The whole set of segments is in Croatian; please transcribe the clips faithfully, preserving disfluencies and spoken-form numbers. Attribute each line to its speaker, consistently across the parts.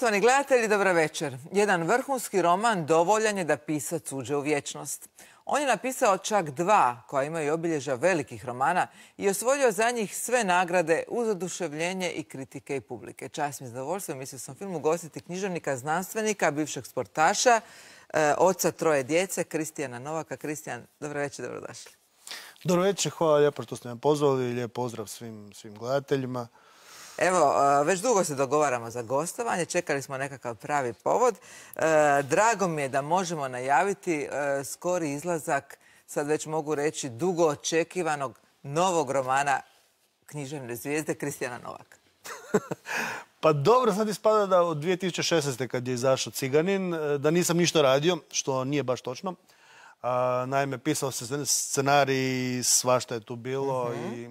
Speaker 1: Poštovani gledatelji, dobro večer. Jedan vrhunski roman dovoljan je da pisac uđe u vječnost. On je napisao čak dva koja imaju obilježja velikih romana i osvojio za njih sve nagrade uz oduševljenje i kritike i publike. Čast mi je zadovoljstvo, mislio sam film ugostiti književnika, znanstvenika, bivšeg sportaša, e, oca troje djece, Kristijana Novaka. Kristijan, dobro večer, dobrodošli.
Speaker 2: Dobro večer, hvala lijepo što ste me pozvali i lijep pozdrav svim, svim gledateljima.
Speaker 1: Evo, već dugo se dogovaramo za gostovanje, čekali smo nekakav pravi povod. Drago mi je da možemo najaviti skori izlazak, sad već mogu reći, dugo očekivanog novog romana književne zvijezde Kristijana Novaka.
Speaker 2: Pa dobro, sad ispada da od dvije tisuće šesnaeste. kad je izašao Ciganin, da nisam ništa radio, što nije baš točno. Naime, pisao se scenarij, svašta je tu bilo i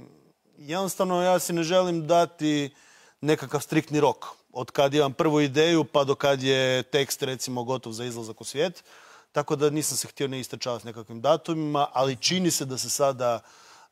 Speaker 2: jednostavno ja si ne želim dati nekakav striktni rok. Od kad imam prvu ideju pa do kad je tekst recimo gotov za izlazak u svijet. Tako da nisam se htio ne istrčavati s nekakvim datumima, ali čini se da se sada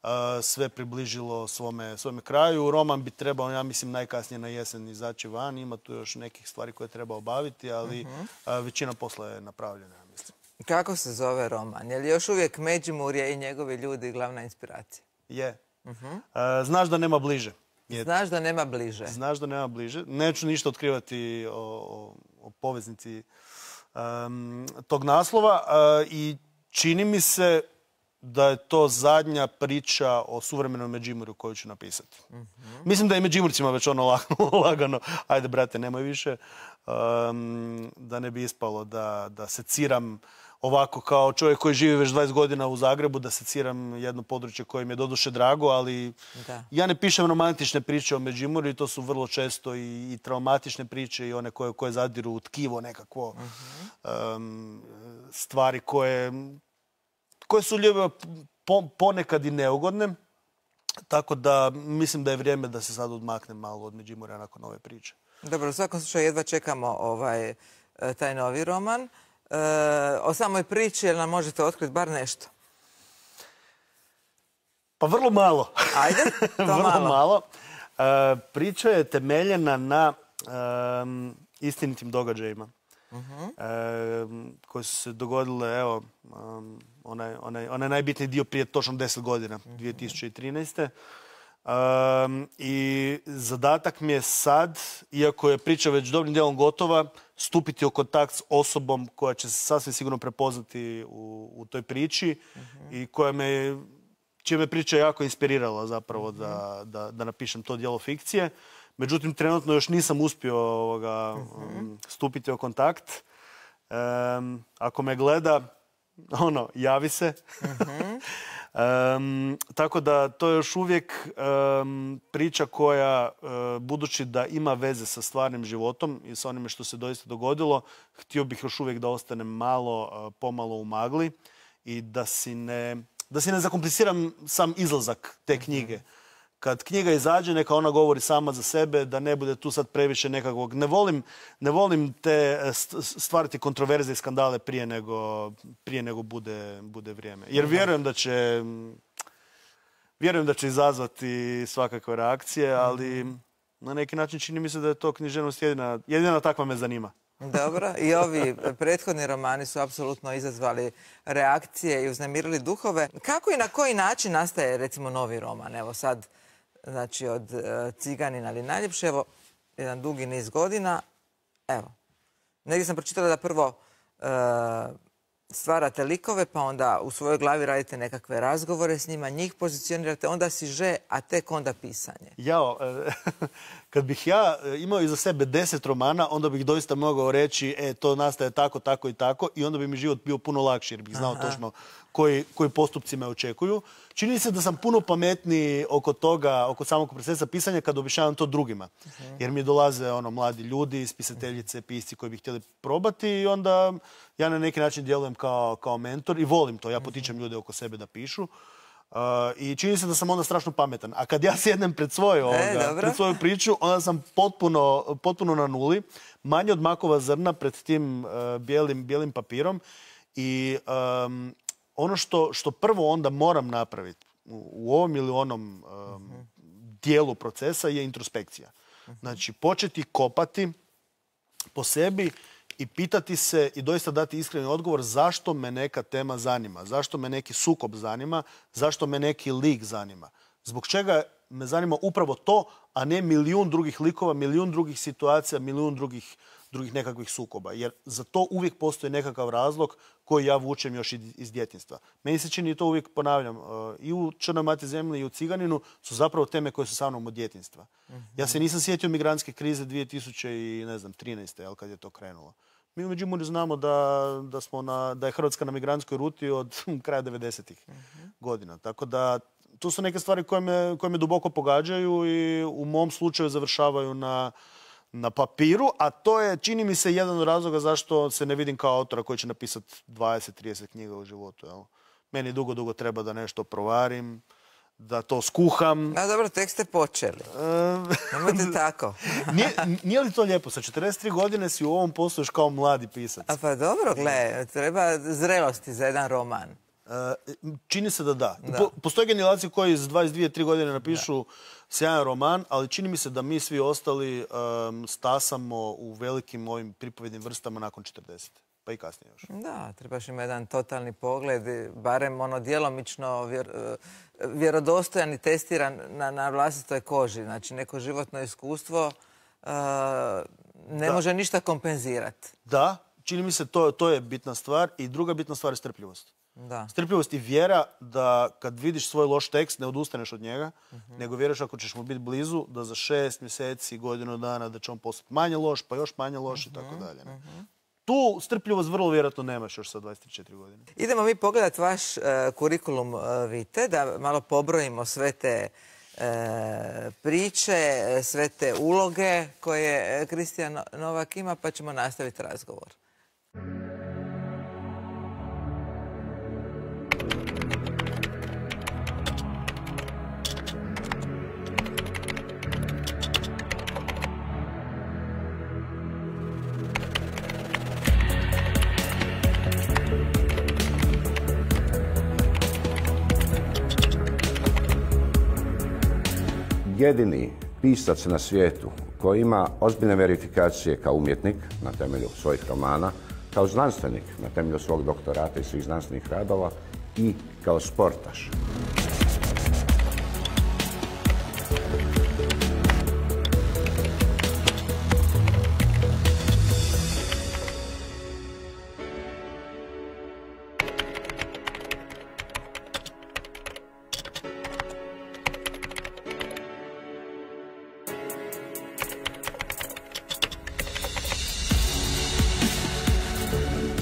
Speaker 2: uh, sve približilo svome, svome kraju. Roman bi trebao, ja mislim, najkasnije na jesen izaći van. Ima tu još nekih stvari koje treba obaviti, ali uh-huh. uh, većina posla je napravljena, ja mislim.
Speaker 1: Kako se zove roman? Je li još uvijek Međimurje i njegovi ljudi glavna inspiracija?
Speaker 2: Je. Uh-huh. uh, znaš da nema bliže. Je.
Speaker 1: Znaš da nema bliže.
Speaker 2: Znaš da nema bliže. Neću ništa otkrivati o, o, o poveznici um, tog naslova uh, i čini mi se da je to zadnja priča o suvremenom Međimurju koju ću napisati. Uh-huh. Mislim da je Međimurcima već ono lagano, lagano. Ajde, brate, nemoj više. Um, da ne bi ispalo da, da seciram ovako kao čovjek koji živi već dvadeset godina u Zagrebu, da seciram jedno područje koje mi je doduše drago, ali da. Ja ne pišem romantične priče o Međimurju, to su vrlo često i, i traumatične priče i one koje, koje zadiru u tkivo nekakvo. Uh-huh. um, stvari koje, koje su ljube po, ponekad i neugodne. Tako da mislim da je vrijeme da se sad odmaknem malo od Međimurja nakon ove priče.
Speaker 1: Dobro, u svakom slučaju jedva čekamo ovaj, taj novi roman. E, o samoj priči, jel nam možete otkriti bar nešto?
Speaker 2: Pa vrlo malo.
Speaker 1: Ajde, to
Speaker 2: vrlo
Speaker 1: malo.
Speaker 2: malo. E, priča je temeljena na e, istinitim događajima. Uh-huh. e, koje su se dogodile, evo, um, onaj, onaj, onaj najbitniji dio prije točno deset godina, uh-huh. dvije tisuće trinaeste. Um, I zadatak mi je sad, iako je priča već dobrim dijelom gotova, stupiti u kontakt s osobom koja će se sasvim sigurno prepoznati u, u toj priči uh-huh. i koja me, čija me priča jako inspirirala zapravo uh-huh. da, da, da napišem to djelo fikcije. Međutim, trenutno još nisam uspio ovoga, uh-huh. um, stupiti u kontakt. Um, ako me gleda, ono, javi se. Uh-huh. Um, tako da to je još uvijek um, priča koja, uh, budući da ima veze sa stvarnim životom i sa onime što se doista dogodilo, htio bih još uvijek da ostanem malo, uh, pomalo u magli i da si ne, da si ne zakompliciram sam izlazak te knjige. Kad knjiga izađe, neka ona govori sama za sebe, da ne bude tu sad previše nekakvog... Ne volim, ne volim te stvarati kontroverze i skandale prije nego, prije nego bude, bude vrijeme. Jer vjerujem da će, vjerujem da će izazvati svakakve reakcije, ali na neki način čini mi se da je to književnost jedina, jedina takva me zanima.
Speaker 1: Dobro, i ovi prethodni romani su apsolutno izazvali reakcije i uznemirili duhove. Kako i na koji način nastaje, recimo, novi roman? Evo sad, znači od uh, Ciganina ali najljepše, evo, jedan dugi niz godina. Evo, negdje sam pročitala da prvo uh, stvarate likove, pa onda u svojoj glavi radite nekakve razgovore s njima, njih pozicionirate, onda siže, a tek onda pisanje.
Speaker 2: Jao, kad bih ja imao iza sebe deset romana, onda bih doista mogao reći, e, to nastaje tako, tako i tako, i onda bi mi život bio puno lakši, jer bih znao Aha. točno koji, koji postupci me očekuju. Čini se da sam puno pametniji oko toga, oko samog procesa pisanja, kad objašnjavam to drugima. Uh-huh. Jer mi dolaze ono, mladi ljudi, spisateljice, pisci koji bi htjeli probati i onda ja na neki način djelujem kao, kao mentor i volim to. Ja potičem ljude oko sebe da pišu. Uh, I čini se da sam onda strašno pametan. A kad ja sjednem pred svoju, ovoga,
Speaker 1: e,
Speaker 2: pred svoju priču, onda sam potpuno, potpuno na nuli. Manje od makova zrna pred tim uh, bijelim, bijelim papirom. I um, ono što, što prvo onda moram napraviti u, u ovom ili onom um, uh-huh. dijelu procesa je introspekcija. Uh-huh. Znači, početi kopati po sebi i pitati se i doista dati iskreni odgovor zašto me neka tema zanima, zašto me neki sukob zanima, zašto me neki lik zanima. Zbog čega me zanima upravo to, a ne milijun drugih likova, milijun drugih situacija, milijun drugih, drugih nekakvih sukoba. Jer za to uvijek postoji nekakav razlog koji ja vučem još iz djetinjstva. Meni se čini, i to uvijek ponavljam, i u Črnoj mati zemlji i u Ciganinu su zapravo teme koje su sa mnom od djetinjstva. Ja se nisam sjetio migrantske krize dvije tisuće trinaeste. Jel, kad je to krenulo. Mi u Međimurju znamo da, da, smo na, da je Hrvatska na migrantskoj ruti od kraja devedesetih godina. Tako da tu su neke stvari koje me, koje me duboko pogađaju i u mom slučaju završavaju na, na papiru, a to je, čini mi se, jedan od razloga zašto se ne vidim kao autora koji će napisati dvadeset trideset knjiga u životu. Jel? Meni dugo, dugo treba da nešto provarim, da to skuham.
Speaker 1: A dobro, tek ste počeli. Nemojte tako.
Speaker 2: nije, nije li to lijepo? Sa četrdeset tri godine si u ovom poslu još kao mladi pisac.
Speaker 1: A pa dobro, gle, treba zrelosti za jedan roman.
Speaker 2: Čini se da da. da. Postoje generacije koji s dvadeset dvije tri godine napišu da. sjajan roman, ali čini mi se da mi svi ostali um, stasamo u velikim ovim pripovednim vrstama nakon četrdesete. Pa i kasnije još.
Speaker 1: Da, trebaš imati jedan totalni pogled, barem ono djelomično vjer, vjerodostojan i testiran na, na vlastitoj koži. Znači, neko životno iskustvo uh, ne da. može ništa kompenzirati.
Speaker 2: Da, čini mi se to, to je bitna stvar. I druga bitna stvar je strpljivost.
Speaker 1: Da.
Speaker 2: Strpljivost i vjera da kad vidiš svoj loš tekst ne odustaneš od njega, uh-huh. nego vjeruješ ako ćeš mu biti blizu, da za šest mjeseci, godinu dana, da će on postati manje loš, pa još manje loš uh-huh. i tako dalje. Ne? Uh-huh. Tu strpljivost vrlo vjerojatno nemaš još sa dvadeset četiri godine.
Speaker 1: Idemo mi pogledati vaš uh, kurikulum uh, vitae, da malo pobrojimo sve te uh, priče, sve te uloge koje Kristijan Novak ima, pa ćemo nastaviti razgovor.
Speaker 3: Jedini pisac na svijetu koji ima ozbiljne verifikacije kao umjetnik na temelju svojih romana, kao znanstvenik na temelju svog doktorata i svih znanstvenih radova i kao sportaš.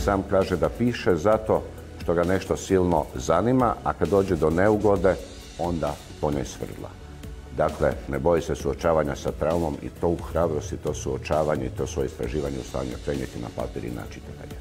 Speaker 3: Sam kaže da piše zato što ga nešto silno zanima, a kad dođe do neugode, onda po njoj svrdla. Dakle, ne boji se suočavanja sa traumom i to u hrabrosti, to suočavanje i to svoje istraživanje u stanju prenijeti na papir i na čitatelja.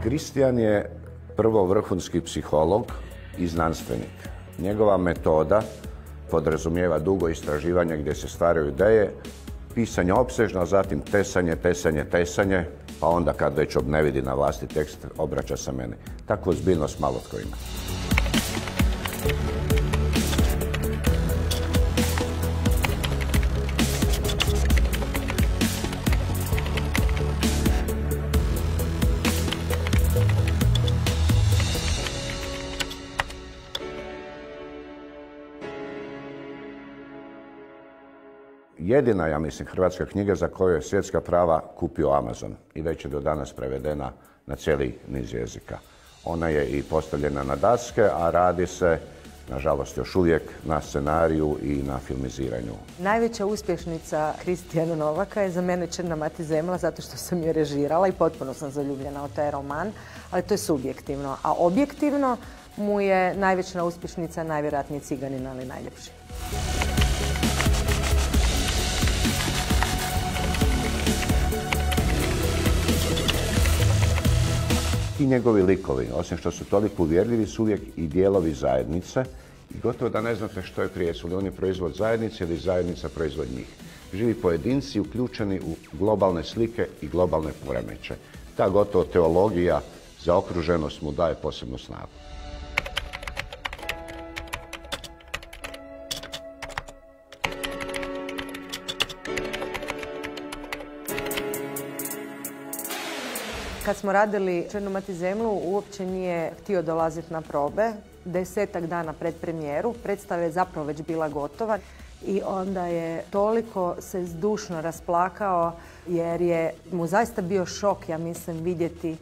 Speaker 3: Kristijan je prvo vrhunski psiholog i znanstvenik. Njegova metoda podrazumijeva dugo istraživanje gdje se stvaraju ideje, pisanje opsežno, zatim tesanje, tesanje, tesanje, pa onda kad već ne vidi na vlasti tekst, obraća se meni. Takvu ozbiljnost malo tko ima. Jedina, ja mislim, hrvatska knjiga za koju je svjetska prava kupio Amazon i već je do danas prevedena na cijeli niz jezika. Ona je i postavljena na daske, a radi se, nažalost, još uvijek na scenariju i na filmiziranju.
Speaker 4: Najveća uspješnica Kristijana Novaka je za mene Črna mati zemlja, zato što sam je režirala i potpuno sam zaljubljena u taj roman, ali to je subjektivno. A objektivno mu je najveća uspješnica najvjerojatnije Ciganin, ali najljepši.
Speaker 3: ti njegovi likovi, osim što su toliko uvjerljivi, su uvijek i dijelovi zajednice i gotovo da ne znate što je prije, jesu li oni proizvod zajednice ili zajednica proizvod njih. Živi pojedinci uključeni u globalne slike i globalne poremećaje. Ta gotovo teologija za okruženost mu daje posebnu snagu.
Speaker 4: Kad smo radili Černu mati zemlju, uopće nije htio dolaziti na probe. Desetak dana pred premijeru, predstava je zapravo već bila gotova i onda je toliko se zdušno rasplakao jer je mu zaista bio šok, ja mislim, vidjeti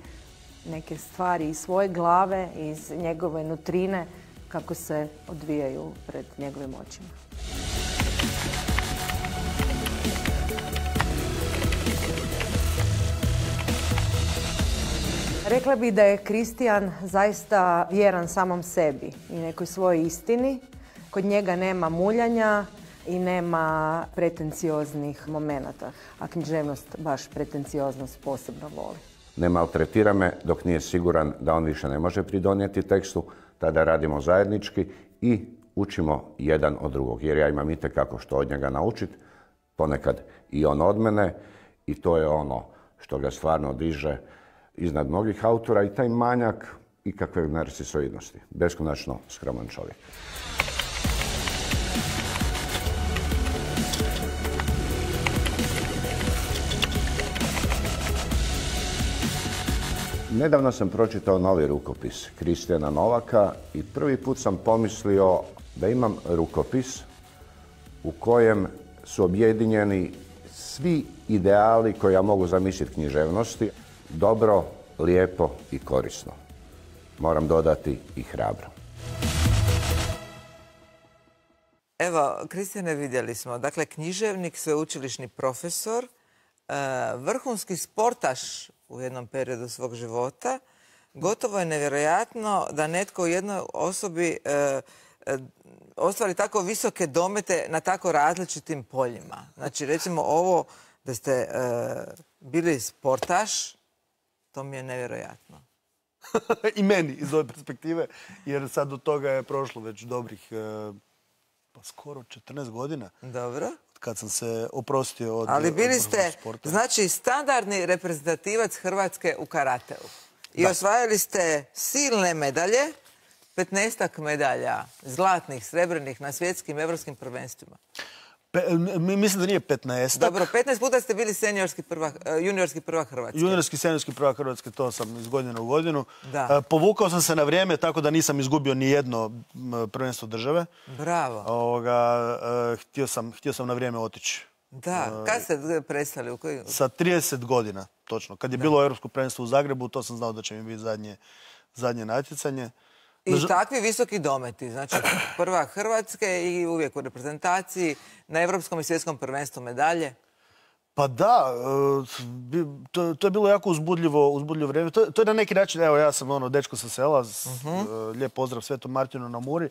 Speaker 4: neke stvari iz svoje glave, iz njegove nutrine, kako se odvijaju pred njegovim očima. Rekla bih da je Kristijan zaista vjeran samom sebi i nekoj svojoj istini. Kod njega nema muljanja i nema pretencioznih momenata, a književnost baš pretencioznost posebno voli.
Speaker 3: Ne maltretira me dok nije siguran da on više ne može pridonijeti tekstu, tada radimo zajednički i učimo jedan od drugog. Jer ja imam itekako što od njega naučiti, ponekad i on od mene i to je ono što ga stvarno diže iznad mnogih autora i taj manjak ikakve narcisoidnosti. Beskonačno skroman čovjek. Nedavno sam pročitao novi rukopis Kristijana Novaka i prvi put sam pomislio da imam rukopis u kojem su objedinjeni svi ideali koje ja mogu zamisliti književnosti. Dobro, lijepo i korisno. Moram dodati i hrabro.
Speaker 1: Evo, Kristijane, vidjeli smo. Dakle, književnik, sveučilišni profesor, vrhunski sportaš u jednom periodu svog života. Gotovo je nevjerojatno da netko u jednoj osobi ostvari tako visoke domete na tako različitim poljima. Znači, recimo ovo da ste bili sportaš, to mi je nevjerojatno.
Speaker 2: I meni iz ove perspektive, jer sad od toga je prošlo već dobrih, pa skoro četrnaest godina.
Speaker 1: Dobro.
Speaker 2: Kad sam se oprostio od
Speaker 1: Ali bili ste,
Speaker 2: sporta.
Speaker 1: znači, standardni reprezentativac Hrvatske u karateu. I da. Osvajali ste silne medalje, petnaestak medalja, zlatnih, srebrnih na svjetskim, evropskim prvenstvima.
Speaker 2: Pe, mislim da nije petnaest.
Speaker 1: Dobro, petnaest puta ste bili seniorski prvak, juniorski prvak Hrvatske.
Speaker 2: Juniorski, seniorski prvak Hrvatske, to sam iz godine u godinu.
Speaker 1: Da.
Speaker 2: Povukao sam se na vrijeme, tako da nisam izgubio ni jedno prvenstvo države.
Speaker 1: Bravo.
Speaker 2: Ovoga, htio sam, htio sam na vrijeme otići.
Speaker 1: Da, kad ste prestali? U koji...
Speaker 2: Sa trideset godina, točno. Kad je da. bilo Europsko prvenstvo u Zagrebu, to sam znao da će mi biti zadnje, zadnje natjecanje.
Speaker 1: I Naž... takvi visoki dometi, znači prvak Hrvatske i uvijek u reprezentaciji, na Europskom i svjetskom prvenstvu medalje.
Speaker 2: Pa da, to, to je bilo jako uzbudljivo, uzbudljivo vrijeme. To, to je na neki način, evo ja sam ono dečko sa sela, uh-huh. lijep pozdrav Svetom Martinu na Muri,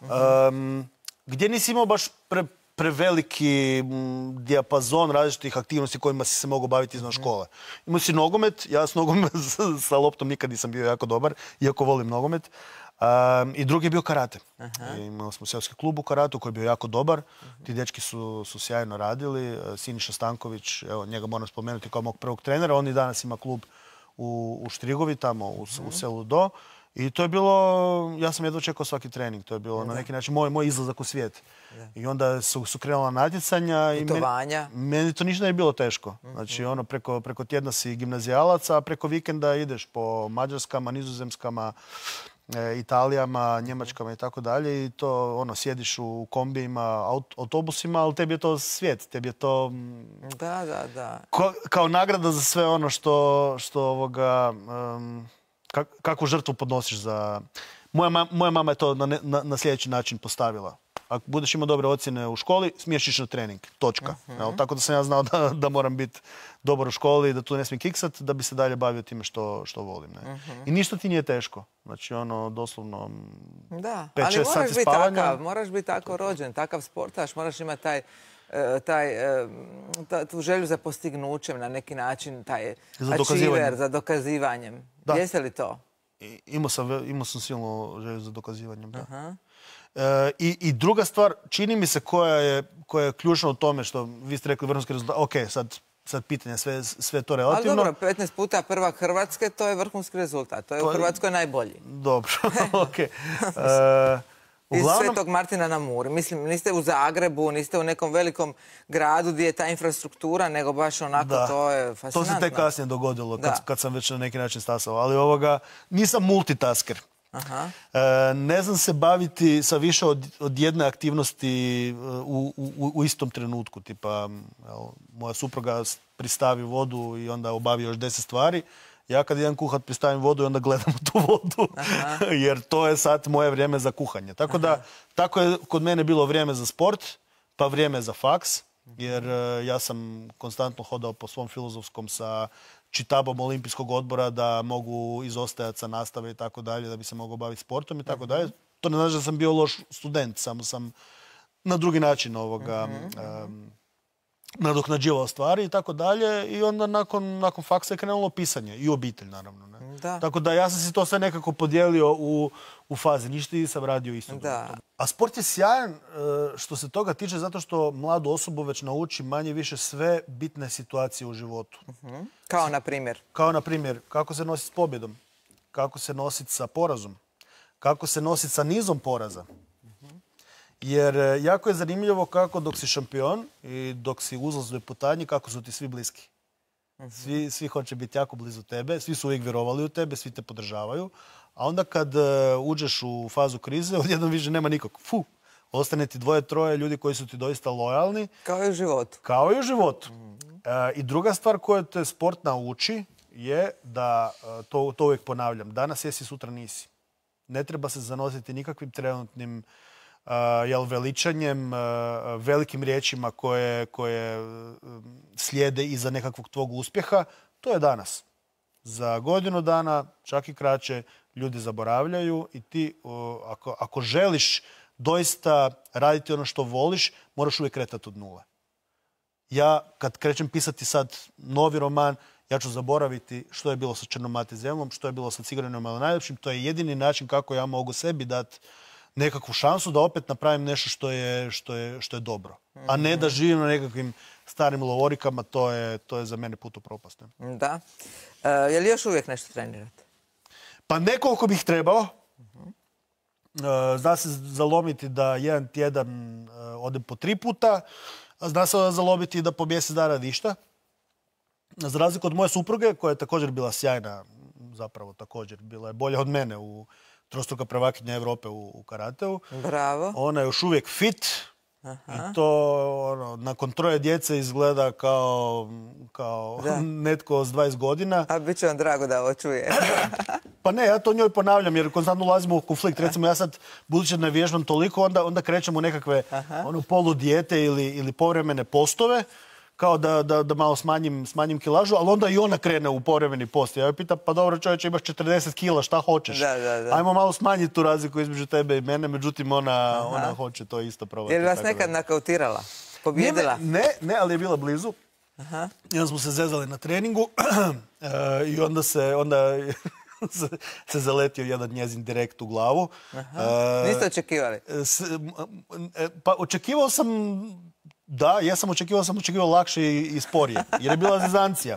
Speaker 2: uh-huh. um, gdje nisi imao baš pre, preveliki m, dijapazon različitih aktivnosti kojima si se mogao baviti izvan uh-huh. škole. Imao si nogomet, ja s nogomet sa loptom nikad nisam bio jako dobar, iako volim nogomet. Um, I drugi je bio karate. Uh-huh. Imali smo seoski klub u karatu koji je bio jako dobar. Uh-huh. Ti dečki su, su sjajno radili. Siniša Stanković, evo, njega moram spomenuti kao mog prvog trenera. On i danas ima klub u, u Štrigovi, tamo u, uh-huh. u selu Do. I to je bilo, ja sam jedva čekao svaki trening. To je bilo uh-huh. na neki način moj, moj izlazak u svijet. Uh-huh. I onda su, su krenula natjecanja.
Speaker 1: Putovanja.
Speaker 2: I meni, meni to ništa nije bilo teško. Uh-huh. Znači, ono, preko, preko tjedna si gimnazijalac, a preko vikenda ideš po Mađarskama, Nizozemskama, Italijama, Njemačkama i tako dalje i to ono sjediš u kombijima, aut autobusima, ali tebi je to svijet, tebi je to
Speaker 1: da, da, da.
Speaker 2: Ko, kao nagrada za sve ono što, što ovoga, um, kak, kakvu žrtvu podnosiš za... Moja, ma, moja mama je to na, na, na sljedeći način postavila. Ako budeš imao dobre ocjene u školi, smiješ ići na trening. Točka. Uh-huh. Evo, tako da sam ja znao da, da moram biti dobar u školi, da tu ne smijem kiksat, da bi se dalje bavio time što, što volim. Ne? Uh-huh. I ništa ti nije teško. Znači, ono, doslovno
Speaker 1: da,
Speaker 2: pet šest sati
Speaker 1: biti
Speaker 2: spavanja.
Speaker 1: Takav, moraš biti tako rođen, takav sportaš, moraš imati taj, taj, taj, tu želju za postignućem na neki način, taj
Speaker 2: za
Speaker 1: achiever, za dokazivanjem. Jeste li to?
Speaker 2: I, imao, sam, imao sam silno želju za dokazivanjem. Da. Uh-huh. E, i, I druga stvar, čini mi se koja je, koja je ključna u tome što vi ste rekli vrhunski rezultat. Ok, sad, sad pitanje, sve, sve to relativno.
Speaker 1: Ali dobro, petnaest puta prvak Hrvatske, to je vrhunski rezultat. To je to u Hrvatskoj najbolji.
Speaker 2: Dobro, ok. E,
Speaker 1: Uglavnom... Iz Svetog Martina na Muri. Mislim, niste u Zagrebu, niste u nekom velikom gradu gdje je ta infrastruktura, nego baš onako, da. To je fascinantno.
Speaker 2: To se tek kasnije dogodilo, kad, kad sam već na neki način stasao. Ali ovoga, nisam multitasker.
Speaker 1: Aha.
Speaker 2: E, ne znam se baviti sa više od, od jedne aktivnosti u, u, u istom trenutku. Tipa, evo, moja supruga pristavi vodu i onda obavi još deset stvari. Ja kad idem kuhat pristavim vodu i onda gledam tu vodu, jer to je sad moje vrijeme za kuhanje. Tako da, tako je kod mene bilo vrijeme za sport, pa vrijeme za faks, jer ja sam konstantno hodao po svom filozofskom sa čitabom olimpijskog odbora da mogu izostajati sa nastave i tako dalje, da bi se mogao baviti sportom i tako dalje. To ne znači da sam bio loš student, samo sam na drugi način ovoga... Um, nadoknađivao stvari i tako dalje i onda nakon, nakon faksa je krenulo pisanje i obitelj naravno. Ne?
Speaker 1: Da.
Speaker 2: Tako da ja sam si to sve nekako podijelio u, u fazi, ništa nisam radio isto.
Speaker 1: Da.
Speaker 2: A sport je sjajan što se toga tiče zato što mladu osobu već nauči manje više sve bitne situacije u životu.
Speaker 1: Uh-huh. Kao na primjer?
Speaker 2: Kao na primjer, kako se nositi s pobjedom, kako se nositi sa porazom, kako se nositi sa nizom poraza. Jer jako je zanimljivo kako dok si šampion i dok si u uzlaznoj putanji, kako su ti svi bliski. Svi, svi hoće biti jako blizu tebe, svi su uvijek vjerovali u tebe, svi te podržavaju. A onda kad uh, uđeš u fazu krize, odjednom više nema nikog. Fu, ostane ti dvoje, troje ljudi koji su ti doista lojalni.
Speaker 1: Kao i u životu.
Speaker 2: Kao i u životu. Mm-hmm. uh, I druga stvar koju te sport nauči je da, uh, to, to uvijek ponavljam, danas jesi, sutra nisi. Ne treba se zanositi nikakvim trenutnim Uh, jel, veličanjem, uh, velikim riječima koje, koje uh, slijede iza nekakvog tvog uspjeha. To je danas. Za godinu dana, čak i kraće, ljudi zaboravljaju i ti, uh, ako, ako želiš doista raditi ono što voliš, moraš uvijek kretati od nule. Ja, kad krećem pisati sad novi roman, ja ću zaboraviti što je bilo sa Crnom Mati zemljom, što je bilo sa Cigarenom, ali najljepšim. To je jedini način kako ja mogu sebi dati nekakvu šansu da opet napravim nešto što je, što je, što je dobro. A ne da živim na nekakvim starim lovorikama, to je, to je za mene put u propast.
Speaker 1: Da. E, je li još uvijek nešto trenirate?
Speaker 2: Pa nekoliko bih trebao. E, zna se zalomiti da jedan tjedan e, odem po tri puta, a zna se zalomiti da po mjesec dana ništa. Za razliku od moje supruge, koja je također bila sjajna, zapravo također, bila je bolja od mene u trostruka prvakinja Europe u, u karateu.
Speaker 1: Bravo.
Speaker 2: Ona je još uvijek fit. Aha. I to ono, nakon troje djece izgleda kao, kao netko s dvadeset godina.
Speaker 1: A bit će vam drago da ovo čuje.
Speaker 2: Pa ne, ja to njoj ponavljam jer konstantno ulazimo u konflikt. Recimo ja sad, budući da ne vježbam toliko, onda, onda krećemo u nekakve ono, poludijete ili, ili povremene postove, kao da, da, da malo smanjim, smanjim kilažu, ali onda i ona krene u povremeni post. Ja joj pitam, pa dobro čovječe, imaš četrdeset kila, šta hoćeš?
Speaker 1: Da, da, da.
Speaker 2: Ajmo malo smanjiti tu razliku između tebe i mene, međutim ona, ona hoće to isto probati.
Speaker 1: Je li vas nekad nakautirala? Pobjedila?
Speaker 2: Ne, ne, ne, ali je bila blizu. Aha. I onda smo se zezali na treningu i onda se... Onda se zaletio jedan njezin direkt u glavu.
Speaker 1: Aha. Niste očekivali?
Speaker 2: Pa očekivao sam... Da, ja sam očekivao, sam očekivao lakše i sporije, jer je bila zezancija.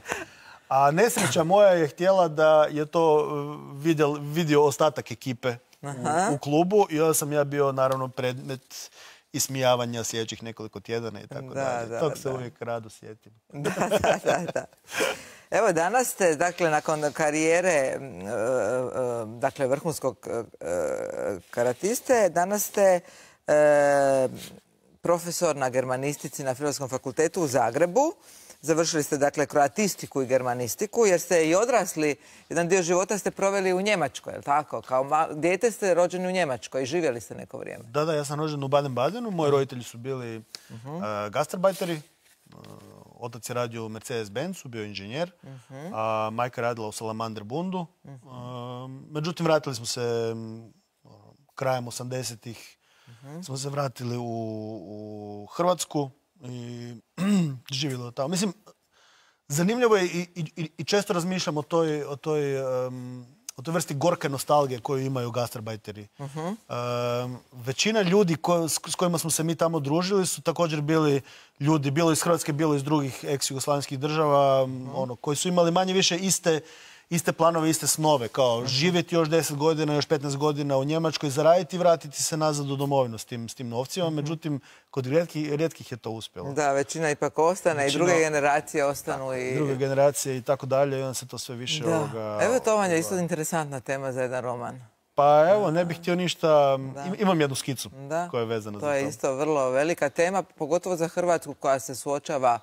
Speaker 2: A nesreća moja je htjela da je to vidio, vidio ostatak ekipe u, u klubu i onda sam ja bio naravno predmet ismijavanja sljedećih nekoliko tjedana i tako
Speaker 1: da,
Speaker 2: dalje.
Speaker 1: Da,
Speaker 2: Tog se
Speaker 1: da.
Speaker 2: uvijek rado sjetim.
Speaker 1: Da, da, da, da. Evo, danas ste, dakle, nakon karijere, dakle, vrhunskog karatiste, danas ste profesor na germanistici na Filozofskom fakultetu u Zagrebu. Završili ste, dakle, kroatistiku i germanistiku, jer ste i odrasli, jedan dio života ste proveli u Njemačkoj, je li tako? Kao dijete ste rođeni u Njemačkoj i živjeli ste neko vrijeme.
Speaker 2: Da, da, ja sam rođen u Baden-Badenu. Moji roditelji su bili uh-huh. uh, gastarbajteri. Uh, otac je radio u Mercedes-Benzu, bio inženjer. Uh-huh. A majka radila u Salamander Bundu. Uh-huh. Uh, međutim, vratili smo se uh, krajem osamdesetih. Uh-huh. Smo se vratili u, u Hrvatsku i živjeli tamo. Mislim, zanimljivo je i, i, i često razmišljam o toj, o toj, um, o toj vrsti gorke nostalgije koju imaju gastarbajteri. Uh-huh. um, većina ljudi ko, s, s kojima smo se mi tamo družili su također bili ljudi, bilo iz Hrvatske, bilo iz drugih ex-jugoslavenskih država, uh-huh. ono, koji su imali manje više iste iste planove, iste snove, kao živjeti još deset godina, još petnaest godina u Njemačkoj, zaraditi i vratiti se nazad u domovinu s tim, s tim novcima. Međutim, kod rijetkih, rijetkih je to uspjelo.
Speaker 1: Da, većina ipak ostane većina, i druge generacije ostanu. I
Speaker 2: druge generacije i tako dalje, i onda se to sve više...
Speaker 1: Da.
Speaker 2: Ovoga,
Speaker 1: evo to vam je isto interesantna tema za jedan roman.
Speaker 2: Pa evo, ne bih htio ništa... Da. Imam jednu skicu
Speaker 1: da.
Speaker 2: koja je vezana
Speaker 1: to
Speaker 2: za to.
Speaker 1: To je isto vrlo velika tema, pogotovo za Hrvatsku koja se suočava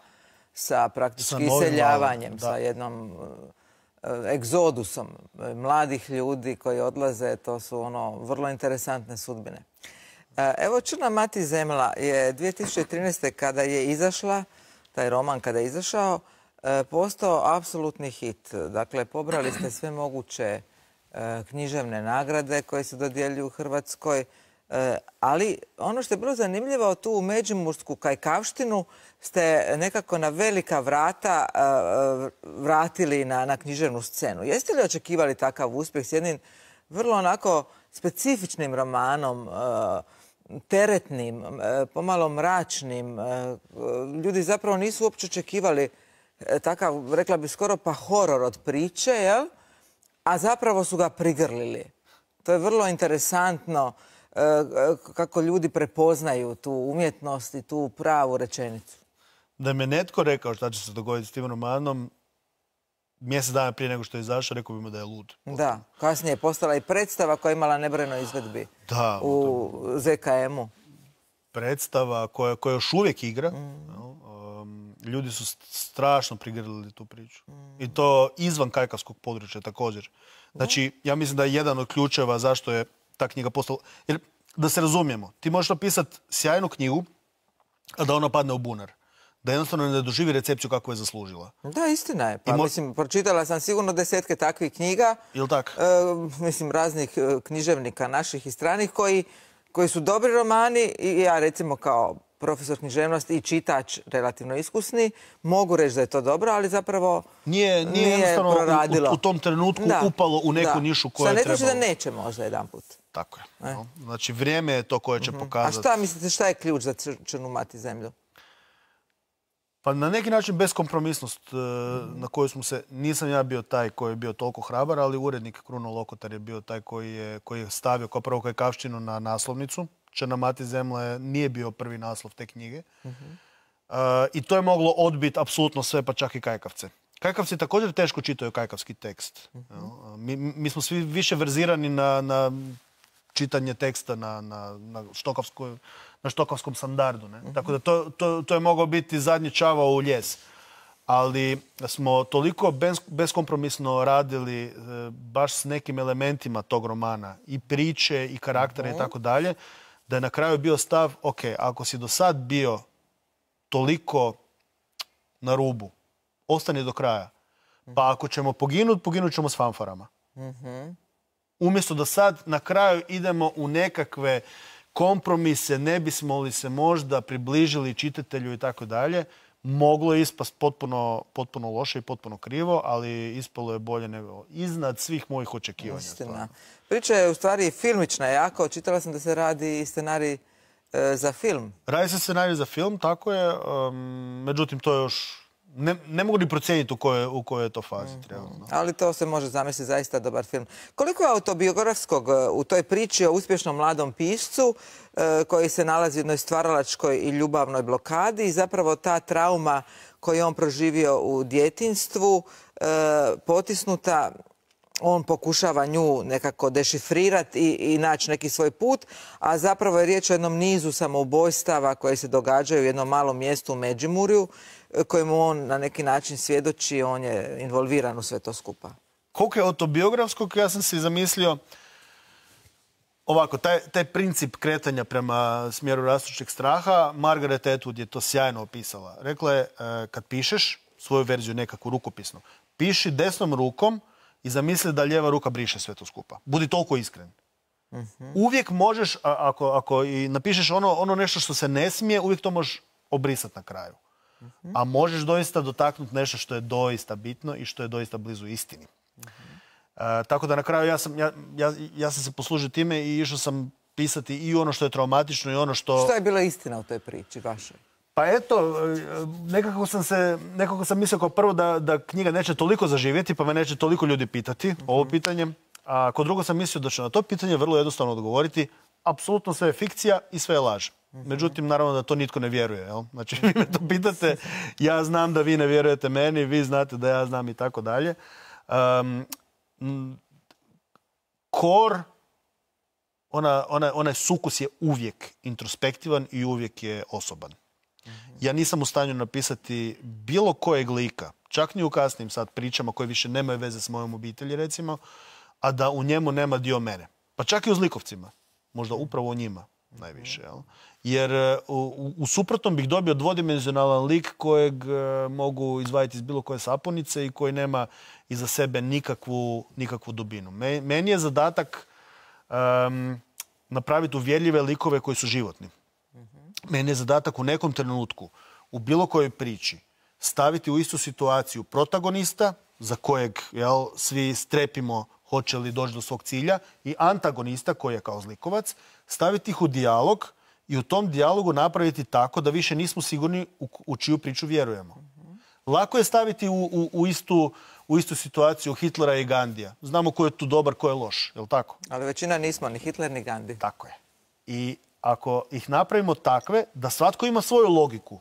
Speaker 1: sa praktički iseljavanjem, sa jednom... egzodusom mladih ljudi koji odlaze, to su ono vrlo interesantne sudbine. Evo, Crna mati zemlja je dvije tisuće trinaeste. kada je izašla, taj roman kada je izašao, postao apsolutni hit. Dakle, pobrali ste sve moguće književne nagrade koje se dodjeljuju u Hrvatskoj, ali ono što je bilo zanimljivo, tu u međimursku kajkavštinu ste nekako na velika vrata vratili na, na književnu scenu. Jeste li očekivali takav uspjeh s jednim vrlo onako specifičnim romanom, teretnim, pomalo mračnim? Ljudi zapravo nisu uopće očekivali takav, rekla bi skoro pa horor od priče, jel? A zapravo su ga prigrlili. To je vrlo interesantno kako ljudi prepoznaju tu umjetnost i tu pravu rečenicu.
Speaker 2: Da me netko rekao šta će se dogoditi s tim romanom, mjesec dana prije nego što je izašao, rekao bi mu da je lud.
Speaker 1: Da, kasnije je postala i predstava koja je imala nebrojeno izvedbi
Speaker 2: da,
Speaker 1: u Z K M-u.
Speaker 2: Predstava koja, koja još uvijek igra. Mm. Um, ljudi su strašno prigrlili tu priču. Mm. I to izvan kajkavskog područja također. Znači, ja mislim da je jedan od ključeva zašto je ta knjiga postala... Jer, da se razumijemo, ti možeš napisati sjajnu knjigu, a da ona padne u bunar. Da jednostavno ne doživi recepciju kako je zaslužila.
Speaker 1: Da, istina je. Pa,
Speaker 2: mo...
Speaker 1: mislim, pročitala sam sigurno desetke takvih knjiga.
Speaker 2: Ili tak?
Speaker 1: E, mislim, raznih književnika naših i stranih koji, koji su dobri romani i ja, recimo, kao profesor književnosti i čitač relativno iskusni, mogu reći da je to dobro, ali zapravo
Speaker 2: nije, nije,
Speaker 1: nije
Speaker 2: jednostavno
Speaker 1: proradilo.
Speaker 2: U, u tom trenutku da, upalo u neku da. nišu koja je trebalo.
Speaker 1: Šta ne znači da neće možda jedan put.
Speaker 2: Tako je. E. No. Znači, vrijeme je to koje će mm-hmm. pokazati.
Speaker 1: A šta mislite, šta je ključ za Crnu mati zemlju?
Speaker 2: Pa na neki način beskompromisnost mm-hmm. na koju smo se... Nisam ja bio taj koji je bio toliko hrabar, ali urednik Kruno Lokotar je bio taj koji je, koji je stavio kao prvo kajkavštinu na naslovnicu. Crna mati zemlja nije bio prvi naslov te knjige. Mm-hmm. uh, I to je moglo odbiti apsolutno sve, pa čak i kajkavce. Kajkavci također teško čitaju kajkavski tekst. Mm-hmm. mi, mi smo svi više verzirani na, na čitanje teksta na, na, na, štokavskoj, na štokavskom standardu. Ne? Mm-hmm. Tako da to, to, to je mogao biti zadnji čavao u ljes. Ali smo toliko bez, beskompromisno radili e, baš s nekim elementima tog romana, i priče, i karaktera, mm-hmm. i tako dalje, da je na kraju bio stav, ok, ako si do sad bio toliko na rubu, ostani do kraja. Pa ako ćemo poginuti, poginut ćemo s fanfarama. Mm-hmm. Umjesto da sad na kraju idemo u nekakve kompromise, ne bismo li se možda približili čitatelju i tako dalje, moglo je ispast potpuno, potpuno loše i potpuno krivo, ali ispalo je bolje nego iznad svih mojih očekivanja.
Speaker 1: Istina. Priča je u stvari filmična jako. Čitala sam da se radi i scenarij e, za film.
Speaker 2: Radi se scenarij za film, tako je. Um, međutim, to je još... Ne, ne mogu ni procijeniti u kojoj, u kojoj je to fazi. Mm-hmm. Trenutno.
Speaker 1: Ali to se može zamisliti zaista dobar film. Koliko je autobiografskog u toj priči o uspješnom mladom piscu e, koji se nalazi u jednoj stvaralačkoj i ljubavnoj blokadi i zapravo ta trauma koju je on proživio u djetinjstvu e, potisnuta, on pokušava nju nekako dešifrirati i, i naći neki svoj put, a zapravo je riječ o jednom nizu samoubojstava koje se događaju u jednom malom mjestu u Međimurju, kojemu on na neki način svjedoči, on je involviran u sve to skupa.
Speaker 2: Koliko je autobiografskog, ja sam si zamislio ovako, taj, taj princip kretanja prema smjeru rastućeg straha, Margaret Atwood je to sjajno opisala. Rekla je, kad pišeš svoju verziju nekakvu rukopisnu, piši desnom rukom i zamisli da lijeva ruka briše sve to skupa. Budi toliko iskren. Mm-hmm. Uvijek možeš, ako, ako i napišeš ono, ono nešto što se ne smije, uvijek to možeš obrisati na kraju. a možeš doista dotaknuti nešto što je doista bitno i što je doista blizu istini. Uh, tako da na kraju ja sam, ja, ja, ja sam se poslužio time i išao sam pisati i ono što je traumatično i ono što...
Speaker 1: Što je bila istina u toj priči vašoj?
Speaker 2: Pa eto, nekako sam se, nekako sam mislio kao prvo da, da knjiga neće toliko zaživjeti, pa me neće toliko ljudi pitati mm-hmm. ovo pitanje. A kod drugo sam mislio da će na to pitanje vrlo jednostavno odgovoriti. Apsolutno sve je fikcija i sve je laž. Mm-hmm. Međutim, naravno da to nitko ne vjeruje. Jel? Znači, vi me to pitate, ja znam da vi ne vjerujete meni, vi znate da ja znam i tako dalje. Um, kor, ona, ona, onaj sukus je uvijek introspektivan i uvijek je osoban. Ja nisam u stanju napisati bilo kojeg lika, čak ni u kasnim sad pričama koje više nemaju veze s mojom obitelji, recimo, a da u njemu nema dio mene. Pa čak i u zlikovcima. Možda upravo u njima najviše. Jel? Jer u, u suprotnom bih dobio dvodimenzionalan lik kojeg uh, mogu izvaditi iz bilo koje sapunice i koji nema iza sebe nikakvu, nikakvu dubinu. Me, meni je zadatak um, napraviti uvjerljive likove koji su životni. Meni je zadatak u nekom trenutku, u bilo kojoj priči, staviti u istu situaciju protagonista, za kojeg jel, svi strepimo hoće li doći do svog cilja, i antagonista, koji je kao zlikovac, staviti ih u dijalog i u tom dijalogu napraviti tako da više nismo sigurni u, u čiju priču vjerujemo. Mm-hmm. Lako je staviti u, u, u, istu, u istu situaciju Hitlera i Gandija. Znamo ko je tu dobar, ko je loš, je li tako?
Speaker 1: Ali većina nismo ni Hitler ni Gandhi.
Speaker 2: Tako je. I ako ih napravimo takve, da svatko ima svoju logiku,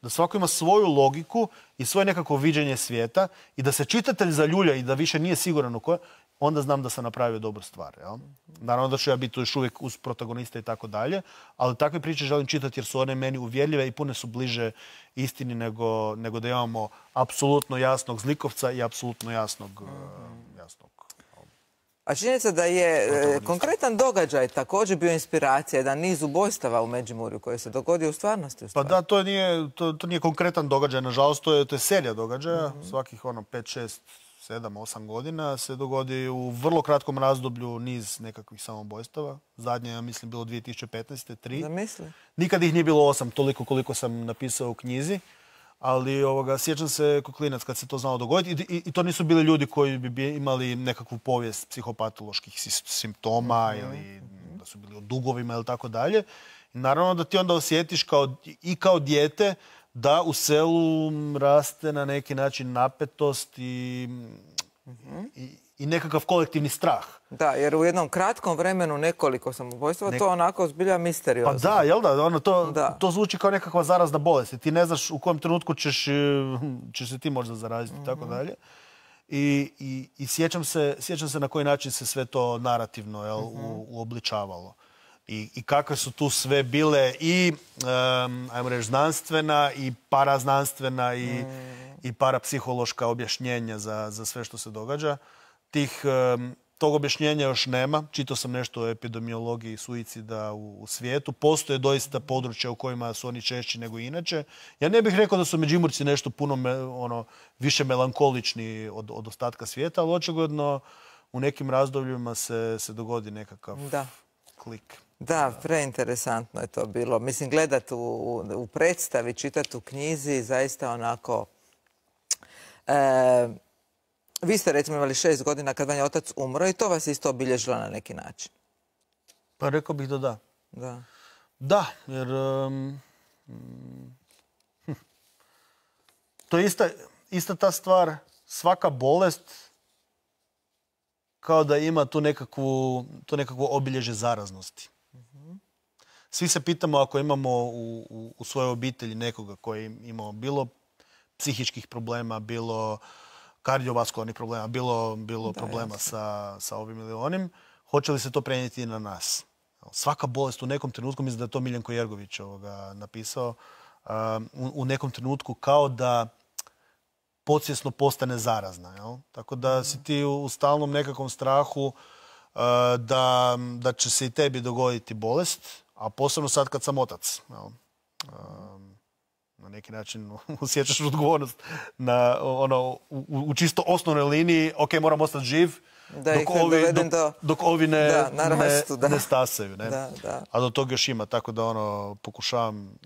Speaker 2: da svako ima svoju logiku i svoje nekako viđenje svijeta i da se čitatelj zaljulja i da više nije siguran u koje, onda znam da sam napravio dobru stvar. Jel? Naravno da ću ja biti još uvijek uz protagonista i tako dalje, ali takve priče želim čitati jer su one meni uvjerljive i pune su bliže istini nego, nego da imamo apsolutno jasnog zlikovca i apsolutno jasnog... Uh, jasnog
Speaker 1: A činjenica da je e, konkretan događaj također bio inspiracija, jedan niz ubojstava u Međimurju koji se dogodio u stvarnosti. U
Speaker 2: pa da, to nije, to, to nije konkretan događaj, nažalost, to je, to je serija događaja. Mm-hmm. Svakih ono, pet, šest, sedam, osam godina se dogodi u vrlo kratkom razdoblju niz nekakvih samobojstava. Zadnje, ja mislim, bilo dvije tisuće petnaeste. tri.
Speaker 1: Zamisli.
Speaker 2: Nikad ih nije bilo osam, toliko koliko sam napisao u knjizi. Ali ovoga, sjećam se kao klinac kad se to znalo dogoditi. I, i, i to nisu bili ljudi koji bi imali nekakvu povijest psihopatoloških simptoma mm-hmm. ili da su bili u dugovima ili tako dalje. I naravno da ti onda osjetiš kao, i kao dijete da u selu raste na neki način napetost i, mm-hmm. i, i nekakav kolektivni strah.
Speaker 1: Da, jer u jednom kratkom vremenu nekoliko samobojstava, Nek... to onako zbilja misteriozno.
Speaker 2: Pa da, jel da? Ono, to, da. To zvuči kao nekakva zarazna bolest. Ti ne znaš u kojem trenutku ćeš, ćeš se ti možda zaraziti i mm-hmm. tako dalje. I, i, i sjećam, se, sjećam se na koji način se sve to narativno jel, mm-hmm. u, uobličavalo. I, i kakve su tu sve bile i, um, ajmo reći, znanstvena i paraznanstvena i, mm. i parapsihološka objašnjenja za, za sve što se događa. Tih, um, tog objašnjenja još nema. Čitao sam nešto o epidemiologiji suicida u, u svijetu. Postoje doista područja u kojima su oni češći nego inače. Ja ne bih rekao da su Međimurci nešto puno me, ono, više melankolični od, od ostatka svijeta, ali očigledno u nekim razdobljima se, se dogodi nekakav
Speaker 1: da.
Speaker 2: klik.
Speaker 1: Da, preinteresantno je to bilo. Mislim, gledat u, u predstavi, čitati u knjizi, zaista onako... E, vi ste recimo imali šest godina kad vam je otac umro i to vas isto obilježilo na neki način.
Speaker 2: Pa rekao bih da da.
Speaker 1: Da.
Speaker 2: Da, jer... Um, hm, to je ista, ista ta stvar, svaka bolest kao da ima tu nekakvu, tu nekakvu obilježje zaraznosti. Svi se pitamo ako imamo u, u, u svojoj obitelji nekoga koji je imao bilo psihičkih problema, bilo kardiovaskularnih problema, bilo, bilo da, problema sa, sa ovim ili onim, hoće li se to prenijeti na nas? Svaka bolest u nekom trenutku, mislim da je to Miljenko Jergović ovoga napisao, u, u nekom trenutku kao da podsvjesno postane zarazna. Jel? Tako da si ti u stalnom nekakvom strahu da, da će se i tebi dogoditi bolest, a posebno sad kad sam otac. Jel? Na neki način osjećaš odgovornost na, ono, u, u čisto osnovnoj liniji, ok, moram ostati živ,
Speaker 1: da
Speaker 2: dok, ovi, dok,
Speaker 1: do...
Speaker 2: dok ovi ne,
Speaker 1: da, narastu,
Speaker 2: ne,
Speaker 1: da.
Speaker 2: ne stasaju. Ne?
Speaker 1: Da, da.
Speaker 2: A do toga još ima, tako da ono, pokušavam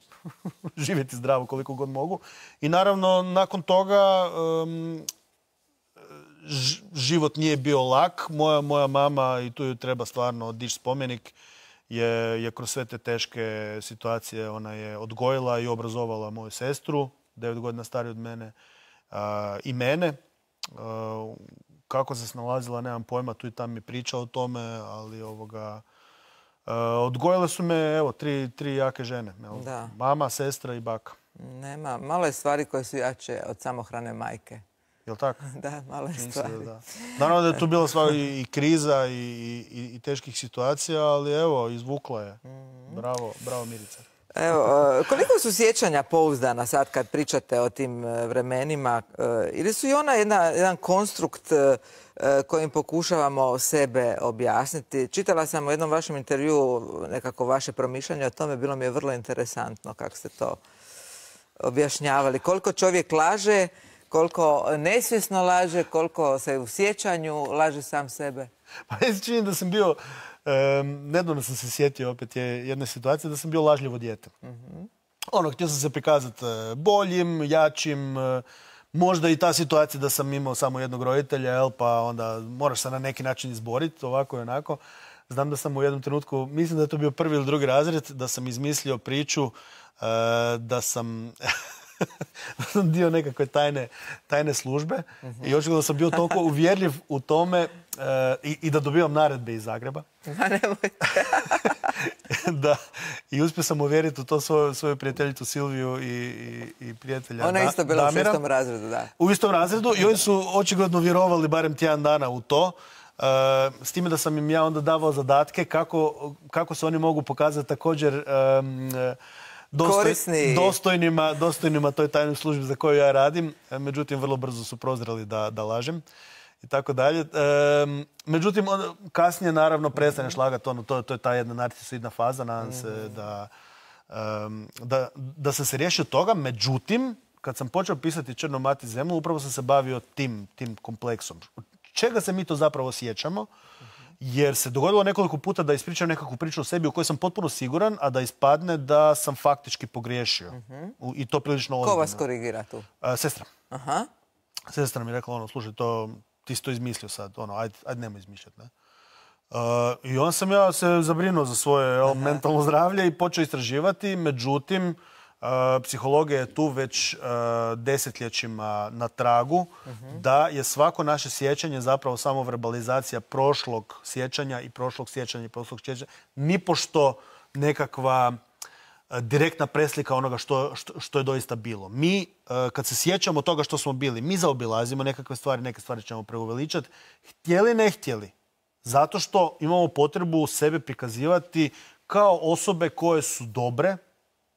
Speaker 2: živjeti zdravo koliko god mogu. I naravno, nakon toga život nije bio lak. Moja, moja mama, i tu joj treba stvarno dići spomenik, je, je kroz sve te teške situacije ona je odgojila i obrazovala moju sestru, devet godina stariju od mene, a, i mene. A, kako se snalazila, nemam pojma, tu i tam mi priča o tome, ali ovoga... Uh, odgojile su me, evo, tri, tri jake žene. Evo, mama, sestra i baka.
Speaker 1: Nema, malo je stvari koje su jače od samohrane majke.
Speaker 2: Jel' tako?
Speaker 1: Da, malo je stvari. Da, da.
Speaker 2: Naravno da je tu bila stvar i, i kriza i, i, i teških situacija, ali evo, izvukla je. Mm-hmm. Bravo, bravo Mirica.
Speaker 1: Evo, koliko su sjećanja pouzdana sad kad pričate o tim vremenima? Ili su i ona jedna, jedan konstrukt kojim pokušavamo sebe objasniti? Čitala sam u jednom vašem intervjuu nekako vaše promišljanje o tome, bilo mi je vrlo interesantno kako ste to objašnjavali. Koliko čovjek laže, koliko nesvjesno laže, koliko se u sjećanju laže sam sebe?
Speaker 2: Pa ja se činim da sam bio... Um, nedavno sam se sjetio opet je jedna situacija da sam bio lažljivo dijete. Mm-hmm. Ono, htio sam se prikazati boljim, jačim, možda i ta situacija da sam imao samo jednog roditelja, jel, pa onda moraš se na neki način izboriti, ovako i onako. Znam da sam u jednom trenutku, mislim da je to bio prvi ili drugi razred, da sam izmislio priču uh, da sam... da sam dio nekakve tajne, tajne službe. Uh-huh. I očigledno sam bio toliko uvjerljiv u tome uh, i, i da dobivam naredbe iz Zagreba.
Speaker 1: Ma nemojte.
Speaker 2: Da. I uspio sam uvjeriti u to svoju, svoju prijateljicu Silviju i, i, i prijatelja
Speaker 1: Ona je isto bila Damira. U šestom razredu, da.
Speaker 2: U istom razredu i oni su očigledno vjerovali barem tjedan dana u to. Uh, s time da sam im ja onda davao zadatke kako, kako se oni mogu pokazati također um, Dostoj, dostojnima, dostojnima toj tajnoj službi za koju ja radim. Međutim, vrlo brzo su prozreli da, da lažem i tako dalje. E, međutim, on, kasnije naravno prestaneš lagati. Ono, to, to je ta jedna narcisoidna faza. Nadam se da, um, da, da sam se riješio toga. Međutim, kad sam počeo pisati Crno mati zemlju, upravo sam se bavio tim, tim kompleksom. Čega se mi to zapravo sjećamo? Jer se dogodilo nekoliko puta da ispričam nekakvu priču o sebi u kojoj sam potpuno siguran, a da ispadne da sam faktički pogriješio. Uh-huh. I to prilično ozbiljno.
Speaker 1: Ko vas korigira tu?
Speaker 2: A, sestra.
Speaker 1: Aha.
Speaker 2: Sestra mi je rekla, ono, slušaj, to, ti si to izmislio sad, ono, ajde, ajde nemoj izmišljati, ne? Uh, I onda sam ja se zabrinuo za svoje uh, mentalno zdravlje i počeo istraživati, međutim, Uh, psihologija je tu već uh, desetljećima na tragu, uh-huh. da je svako naše sjećanje zapravo samo verbalizacija prošlog sjećanja i prošlog sjećanja i prošlog sjećanja. Nipošto nekakva uh, direktna preslika onoga što, što, što je doista bilo. Mi, uh, kad se sjećamo toga što smo bili, mi zaobilazimo nekakve stvari, neke stvari ćemo preuveličati, htjeli ne htjeli. Zato što imamo potrebu sebe prikazivati kao osobe koje su dobre.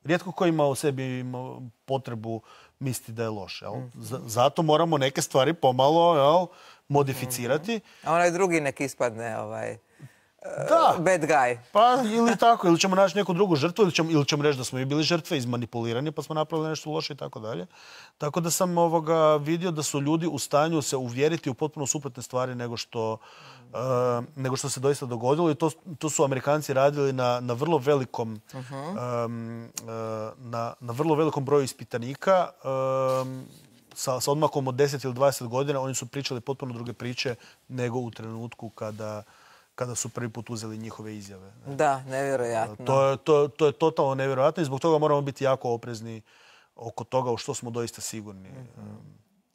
Speaker 2: Rijetko ko ima u sebi ima potrebu misliti da je loš. Jel? Zato moramo neke stvari pomalo, jel, modificirati.
Speaker 1: A onaj drugi nek ispadne ovaj,
Speaker 2: da.
Speaker 1: bad guy.
Speaker 2: Pa ili tako, ili ćemo naći neku drugu žrtvu, ili ćemo, ili ćemo reći da smo i bili žrtve, izmanipulirani, pa smo napravili nešto loše i tako dalje. Tako da sam ovoga vidio da su ljudi u stanju se uvjeriti u potpuno suprotne stvari nego što, uh, nego što se doista dogodilo. I to, to su Amerikanci radili na, na vrlo velikom uh-huh. um, uh, na, na vrlo velikom broju ispitanika. Um, sa, sa odmakom od deset ili dvadeset godina oni su pričali potpuno druge priče nego u trenutku kada kada su prvi put uzeli njihove izjave.
Speaker 1: Da, nevjerojatno.
Speaker 2: To je, to, to je totalno nevjerojatno i zbog toga moramo biti jako oprezni oko toga u što smo doista sigurni. Mm-hmm.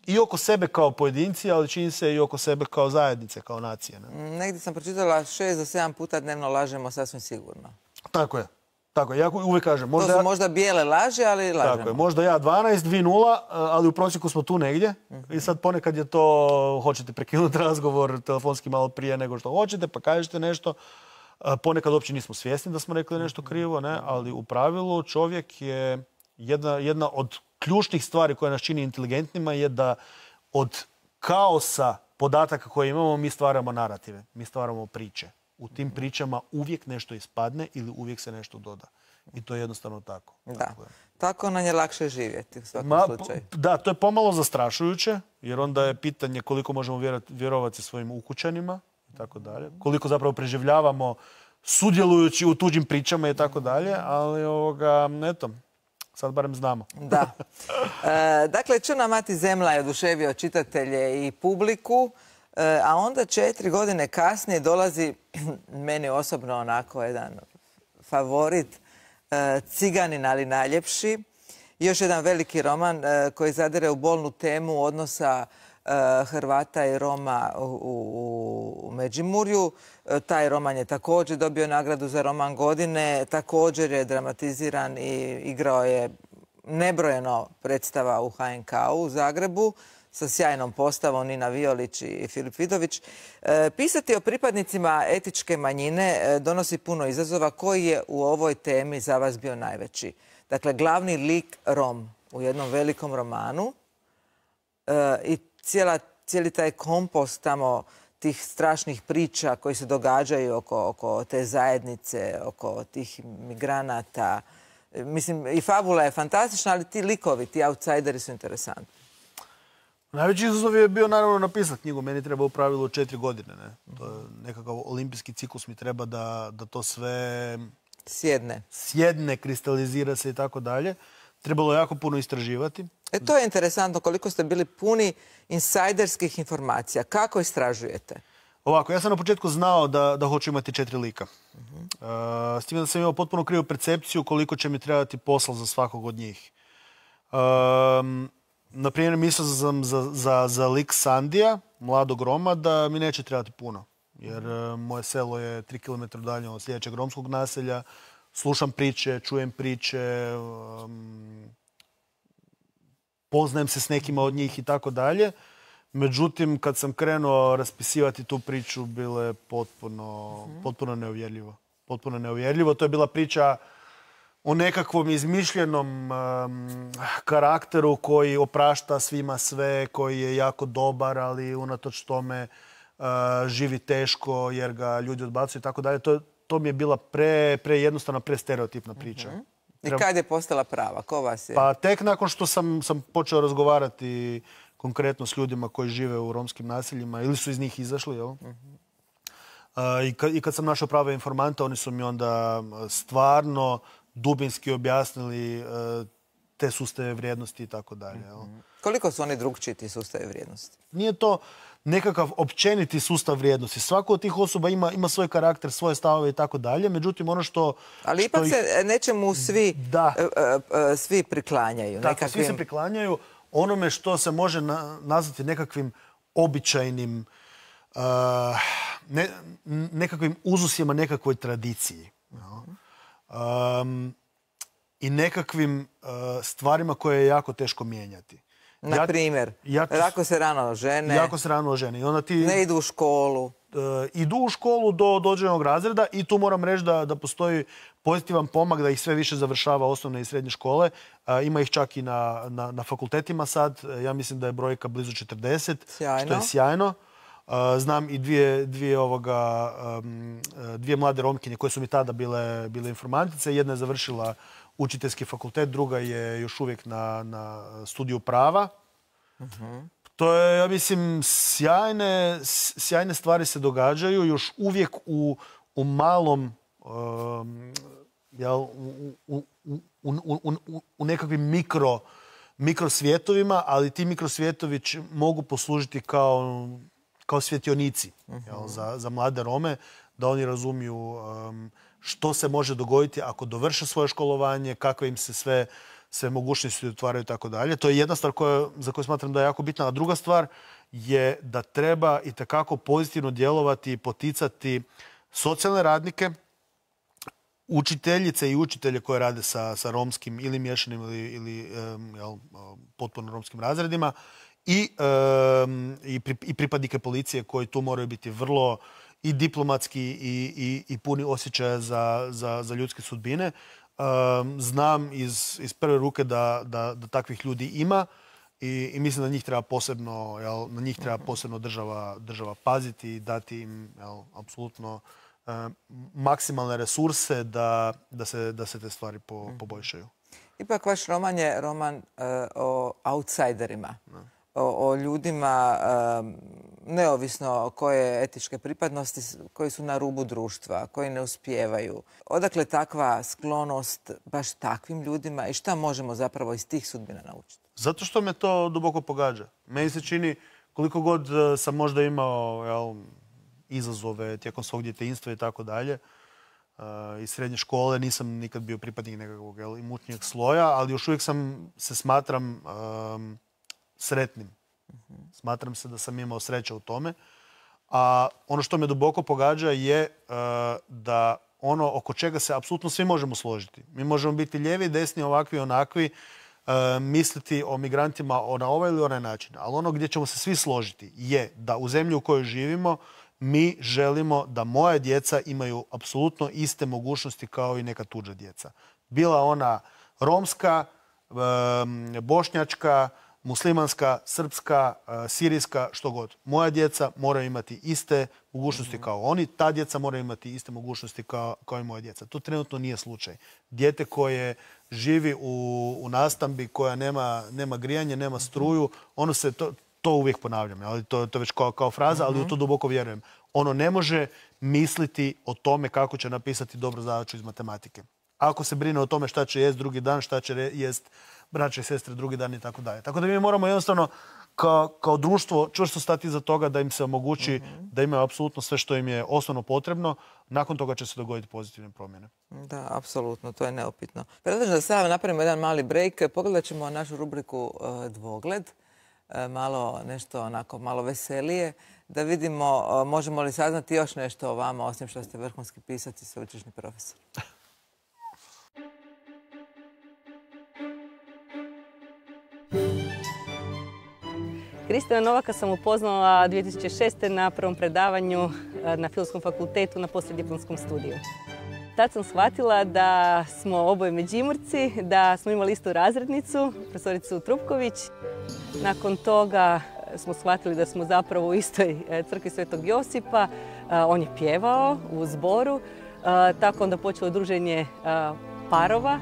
Speaker 2: I oko sebe kao pojedinci, ali čini se i oko sebe kao zajednice, kao nacije. Ne?
Speaker 1: Negdje sam pročitala šest do sedam puta dnevno lažemo sasvim sigurno.
Speaker 2: Tako je. Tako je. Ja uvijek kažem. Možda
Speaker 1: to su
Speaker 2: ja,
Speaker 1: možda bijele laže, ali lažemo.
Speaker 2: Tako je. Možda ja dvanaest, vi nula, ali u prosjeku smo tu negdje. Mm-hmm. I sad ponekad je to, hoćete prekinuti razgovor telefonski malo prije nego što hoćete, pa kažete nešto. Ponekad uopće nismo svjesni da smo rekli nešto krivo, ne? Ali u pravilu čovjek je jedna, jedna od ključnih stvari koja nas čini inteligentnima je da od kaosa podataka koje imamo mi stvaramo narative, mi stvaramo priče. U tim pričama uvijek nešto ispadne ili uvijek se nešto doda. I to je jednostavno tako.
Speaker 1: Da. Tako, tako nam je lakše živjeti u svakom
Speaker 2: Ma,
Speaker 1: slučaju.
Speaker 2: Da, to je pomalo zastrašujuće, jer onda je pitanje koliko možemo vjerovati svojim ukućanima i tako dalje. Koliko zapravo preživljavamo sudjelujući u tuđim pričama i tako dalje. Ali, ovoga, eto, Sad barem znamo.
Speaker 1: Da. E, dakle, Čudna mati zemlja je oduševio čitatelje i publiku, e, a onda četiri godine kasnije dolazi meni osobno onako jedan favorit, e, Ciganin, ali najljepši. Još jedan veliki roman e, koji zadire u bolnu temu odnosa e, Hrvata i Roma u, u, u Međimurju. E, taj roman je također dobio nagradu za roman godine, također je dramatiziran i igrao je nebrojeno predstava u ha en ka u u Zagrebu sa sjajnom postavom Nina Violić i Filip Vidović. E, pisati o pripadnicima etičke manjine e, donosi puno izazova. Koji je u ovoj temi za vas bio najveći? Dakle, glavni lik Rom u jednom velikom romanu e, i cijela, cijeli taj kompost tamo tih strašnih priča koji se događaju oko, oko te zajednice, oko tih migranata. E, mislim, i fabula je fantastična, ali ti likovi, ti outsideri su interesantni.
Speaker 2: Najveći izazov je bio naravno napisati knjigu. Meni treba u pravilu četiri godine. Ne? To je nekakav olimpijski ciklus mi treba da, da to sve
Speaker 1: Sjedne.
Speaker 2: sjedne, kristalizira se i tako dalje. Trebalo je jako puno istraživati.
Speaker 1: E to je interesantno koliko ste bili puni insajderskih informacija. Kako istražujete?
Speaker 2: Ovako, ja sam na početku znao da, da hoću imati četiri lika. Uh-huh. Uh, s time da sam imao potpuno krivu percepciju koliko će mi trebati posla za svakog od njih. Um, na primjer, mislio sam za, za, za lik Sandija, mladog Roma, da mi neće trebati puno. Jer uh, moje selo je tri kilometra dalje od sljedećeg romskog naselja. Slušam priče, čujem priče, um, poznajem se s nekima od njih i tako dalje. Međutim, kad sam krenuo raspisivati tu priču, bilo je potpuno, mm-hmm. potpuno neuvjerljivo. Potpuno neuvjerljivo. To je bila priča o nekakvom izmišljenom um, karakteru koji oprašta svima sve, koji je jako dobar, ali unatoč tome uh, živi teško jer ga ljudi odbacuju i tako dalje. To, to mi je bila pre, pre jednostavna, pre stereotipna priča.
Speaker 1: Mm-hmm. I kad je postala prava? Ko vas je?
Speaker 2: Pa tek nakon što sam, sam počeo razgovarati konkretno s ljudima koji žive u romskim naseljima ili su iz njih izašli, jel? Mm-hmm. Uh, i, kad, I kad sam našao prave informante, oni su mi onda stvarno dubinski objasnili uh, te sustave vrijednosti i tako dalje.
Speaker 1: Mm-hmm. Koliko su oni drugčiji ti sustave vrijednosti?
Speaker 2: Nije to nekakav općeniti sustav vrijednosti. Svako od tih osoba ima, ima svoj karakter, svoje stavove i tako dalje. Međutim, ono što...
Speaker 1: Ali
Speaker 2: što
Speaker 1: ipak
Speaker 2: ih...
Speaker 1: se nečemu svi,
Speaker 2: da.
Speaker 1: uh, uh, svi priklanjaju.
Speaker 2: Tako,
Speaker 1: nekakvim...
Speaker 2: svi se priklanjaju onome što se može na, nazvati nekakvim običajnim, uh, ne, nekakvim uzusima, nekakvoj tradiciji. Um, I nekakvim uh, stvarima koje je jako teško mijenjati.
Speaker 1: Na primjer, ja, ja, jako se rano žene.
Speaker 2: Jako se rano žene. I onda ti,
Speaker 1: ne idu u školu.
Speaker 2: Uh, idu u školu do dođenog razreda i tu moram reći da, da postoji pozitivan pomak da ih sve više završava osnovne i srednje škole. Uh, ima ih čak i na, na, na fakultetima sad. Uh, ja mislim da je brojka blizu četrdeset,
Speaker 1: sjajno.
Speaker 2: Što je sjajno. Uh, znam i dvije, dvije, ovoga, um, dvije mlade Romkinje koje su mi tada bile, bile informantice. Jedna je završila učiteljski fakultet, druga je još uvijek na, na studiju prava. Uh-huh. To je, ja mislim, sjajne, sjajne stvari se događaju još uvijek u, u malom, um, jel, u, u, u, u, u, u nekakvim mikro, mikrosvjetovima, ali ti mikrosvjetovi mogu poslužiti kao, kao svjetionici, uh-huh. jel, za, za mlade Rome, da oni razumiju um, što se može dogoditi ako dovrše svoje školovanje, kakve im se sve, sve mogućnosti otvaraju i tako dalje. To je jedna stvar koja, za koju smatram da je jako bitna. A druga stvar je da treba i takako pozitivno djelovati i poticati socijalne radnike, učiteljice i učitelje koje rade sa, sa romskim ili miješanim ili, ili um, jel, potpuno romskim razredima i, um, i, pri, i pripadnike policije koji tu moraju biti vrlo i diplomatski i, i, i puni osjećaja za, za, za ljudske sudbine. Um, znam iz, iz prve ruke da, da, da takvih ljudi ima i, i mislim da njih treba posebno, jel, na njih treba posebno država, država paziti i dati im, jel, apsolutno um, maksimalne resurse da, da, se, da se te stvari po, poboljšaju.
Speaker 1: Ipak vaš roman je roman uh, o outsiderima, o, o ljudima um, neovisno koje etičke pripadnosti, koji su na rubu društva, koji ne uspijevaju. Odakle takva sklonost baš takvim ljudima i šta možemo zapravo iz tih sudbina naučiti?
Speaker 2: Zato što me to duboko pogađa. Meni se čini, koliko god sam možda imao jel, izazove tijekom svog djetinjstva i tako dalje, iz srednje škole nisam nikad bio pripadnik nekakvog jel, imućnijeg sloja, ali još uvijek sam se smatram um, sretnim. Smatram se da sam imao sreće u tome. A ono što me duboko pogađa je uh, da ono oko čega se apsolutno svi možemo složiti. Mi možemo biti lijevi, desni, ovakvi, onakvi, uh, misliti o migrantima na ovaj ili onaj način. Ali ono gdje ćemo se svi složiti je da u zemlji u kojoj živimo mi želimo da moja djeca imaju apsolutno iste mogućnosti kao i neka tuđa djeca. Bila ona romska, um, bošnjačka, muslimanska, srpska, sirijska, što god. Moja djeca moraju imati iste mogućnosti kao oni, ta djeca moraju imati iste mogućnosti kao, kao i moja djeca. To trenutno nije slučaj. Dijete koje živi u, u nastambi, koja nema, nema grijanje, nema struju, ono se, to, to uvijek ponavljam, ali to, to već kao, kao fraza, ali u to duboko vjerujem. Ono ne može misliti o tome kako će napisati dobru zadaću iz matematike. Ako se brine o tome šta će jest drugi dan, šta će jest braće i sestre drugi dan i tako dalje. Tako da mi moramo jednostavno kao, kao društvo čvrsto stati iza toga da im se omogući mm-hmm. da imaju apsolutno sve što im je osnovno potrebno. Nakon toga će se dogoditi pozitivne promjene.
Speaker 1: Da, apsolutno, to je neupitno. Predlažem da sada napravimo jedan mali break. Pogledat ćemo našu rubriku uh, Dvogled. Uh, malo nešto onako malo veselije. Da vidimo uh, možemo li saznati još nešto o vama, osim što ste vrhunski pisac i sveučilišni profesor.
Speaker 5: Kristijana Novaka sam upoznala dvije tisuće šeste. na prvom predavanju na Filozofskom fakultetu na poslijediplomskom studiju. Tad sam shvatila da smo oboje Međimurci, da smo imali istu razrednicu, profesoricu Trupković. Nakon toga smo shvatili da smo zapravo u istoj crkvi Svetog Josipa. On je pjevao u zboru, tako onda počelo druženje parova.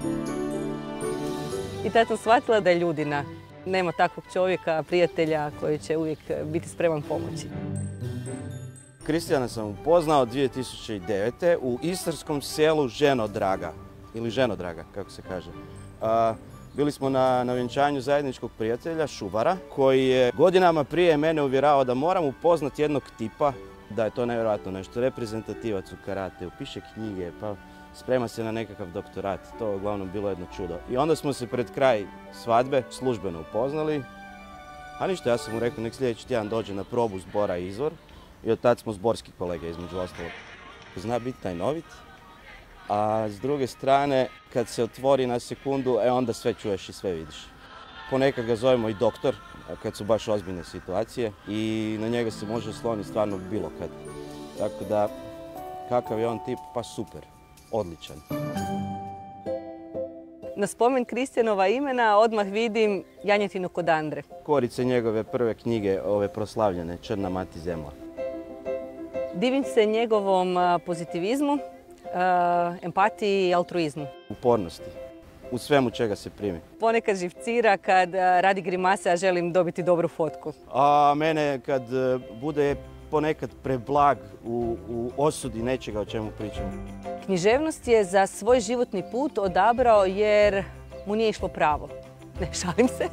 Speaker 5: I tad sam shvatila da je ljudina. Nema takvog čovjeka, prijatelja koji će uvijek biti spreman pomoći.
Speaker 6: Kristijana sam upoznao dvije tisuće devete. u istarskom selu Ženodraga, ili Ženodraga, kako se kaže. A, bili smo na, na vjenčanju zajedničkog prijatelja, Šubara, koji je godinama prije mene uvjeravao da moram upoznati jednog tipa, da je to nevjerojatno nešto, reprezentativac u karateu, piše knjige, pa sprema se na nekakav doktorat. To je uglavnom bilo jedno čudo. I onda smo se pred kraj svadbe službeno upoznali. A ništa, ja sam mu rekao nek sljedeći tjedan dođe na probu zbora Izvor. I od tad smo zborski kolege između ostalog. Zna biti tajnovit. A s druge strane, kad se otvori na sekundu, e onda sve čuješ i sve vidiš. Ponekad ga zovemo i doktor, kad su baš ozbiljne situacije. I na njega se može osloniti stvarno bilo kad. Tako da, kakav je on tip, pa super. Odličan.
Speaker 5: Na spomen Kristijanova imena odmah vidim janjetinu kod Andre.
Speaker 6: Korice njegove prve knjige, ove proslavljene, Črna mati zemlja.
Speaker 5: Divim se njegovom pozitivizmu, empatiji i altruizmu.
Speaker 6: Upornosti. U svemu čega se primi.
Speaker 5: Ponekad živcira kad radi grimase, a želim dobiti dobru fotku.
Speaker 6: A mene kad bude ponekad preblag u, u osudi nečega o čemu pričamo.
Speaker 5: Književnost je za svoj životni put odabrao jer mu nije išlo pravo. Ne, šalim se.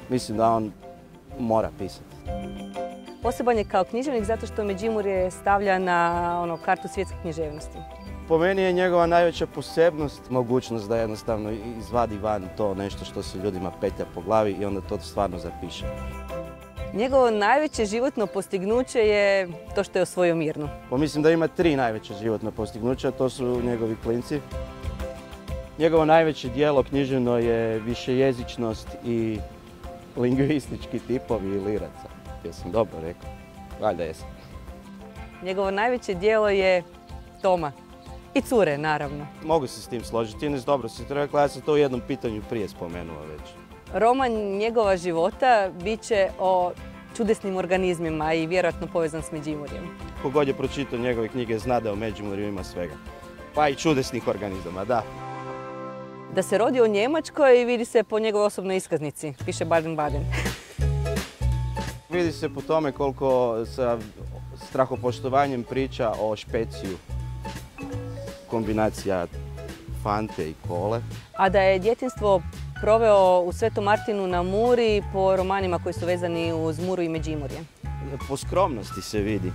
Speaker 6: Mislim da on mora pisati.
Speaker 5: Poseban je kao književnik zato što Međimurje stavlja na ono, kartu svjetske književnosti.
Speaker 6: Po meni je njegova najveća posebnost mogućnost da jednostavno izvadi van to nešto što se ljudima petlja po glavi i onda to stvarno zapiše.
Speaker 5: Njegovo najveće životno postignuće je to što je osvojio Mirnu.
Speaker 6: Pa mislim da ima tri najveća životna postignuća, to su njegovi klinci. Njegovo najveće djelo književno je višejezičnost i lingvistički tipovi liraca. Jesam dobro rekao? Valjda jesam.
Speaker 5: Njegovo najveće djelo je Toma. I cure, naravno.
Speaker 6: Mogu se s tim složiti. Ines, dobro si to rekla, ja sam to u jednom pitanju prije spomenuo već.
Speaker 5: Roman njegova života bit će o čudesnim organizmima i vjerojatno povezan s Međimurjem.
Speaker 6: Kogod je pročitao njegove knjige zna da u Međimurju ima svega. Pa i čudesnih organizama, da.
Speaker 5: Da se rodi u Njemačkoj vidi se po njegovoj osobnoj iskaznici. Piše Baden-Baden.
Speaker 6: Vidi se po tome koliko sa strahopoštovanjem priča o špeciju. Kombinacija Fante i kole.
Speaker 5: A da je djetinjstvo proveo u Svetom Martinu na Muri po romanima koji su vezani uz Muru i Međimurje.
Speaker 6: Po skromnosti se vidi.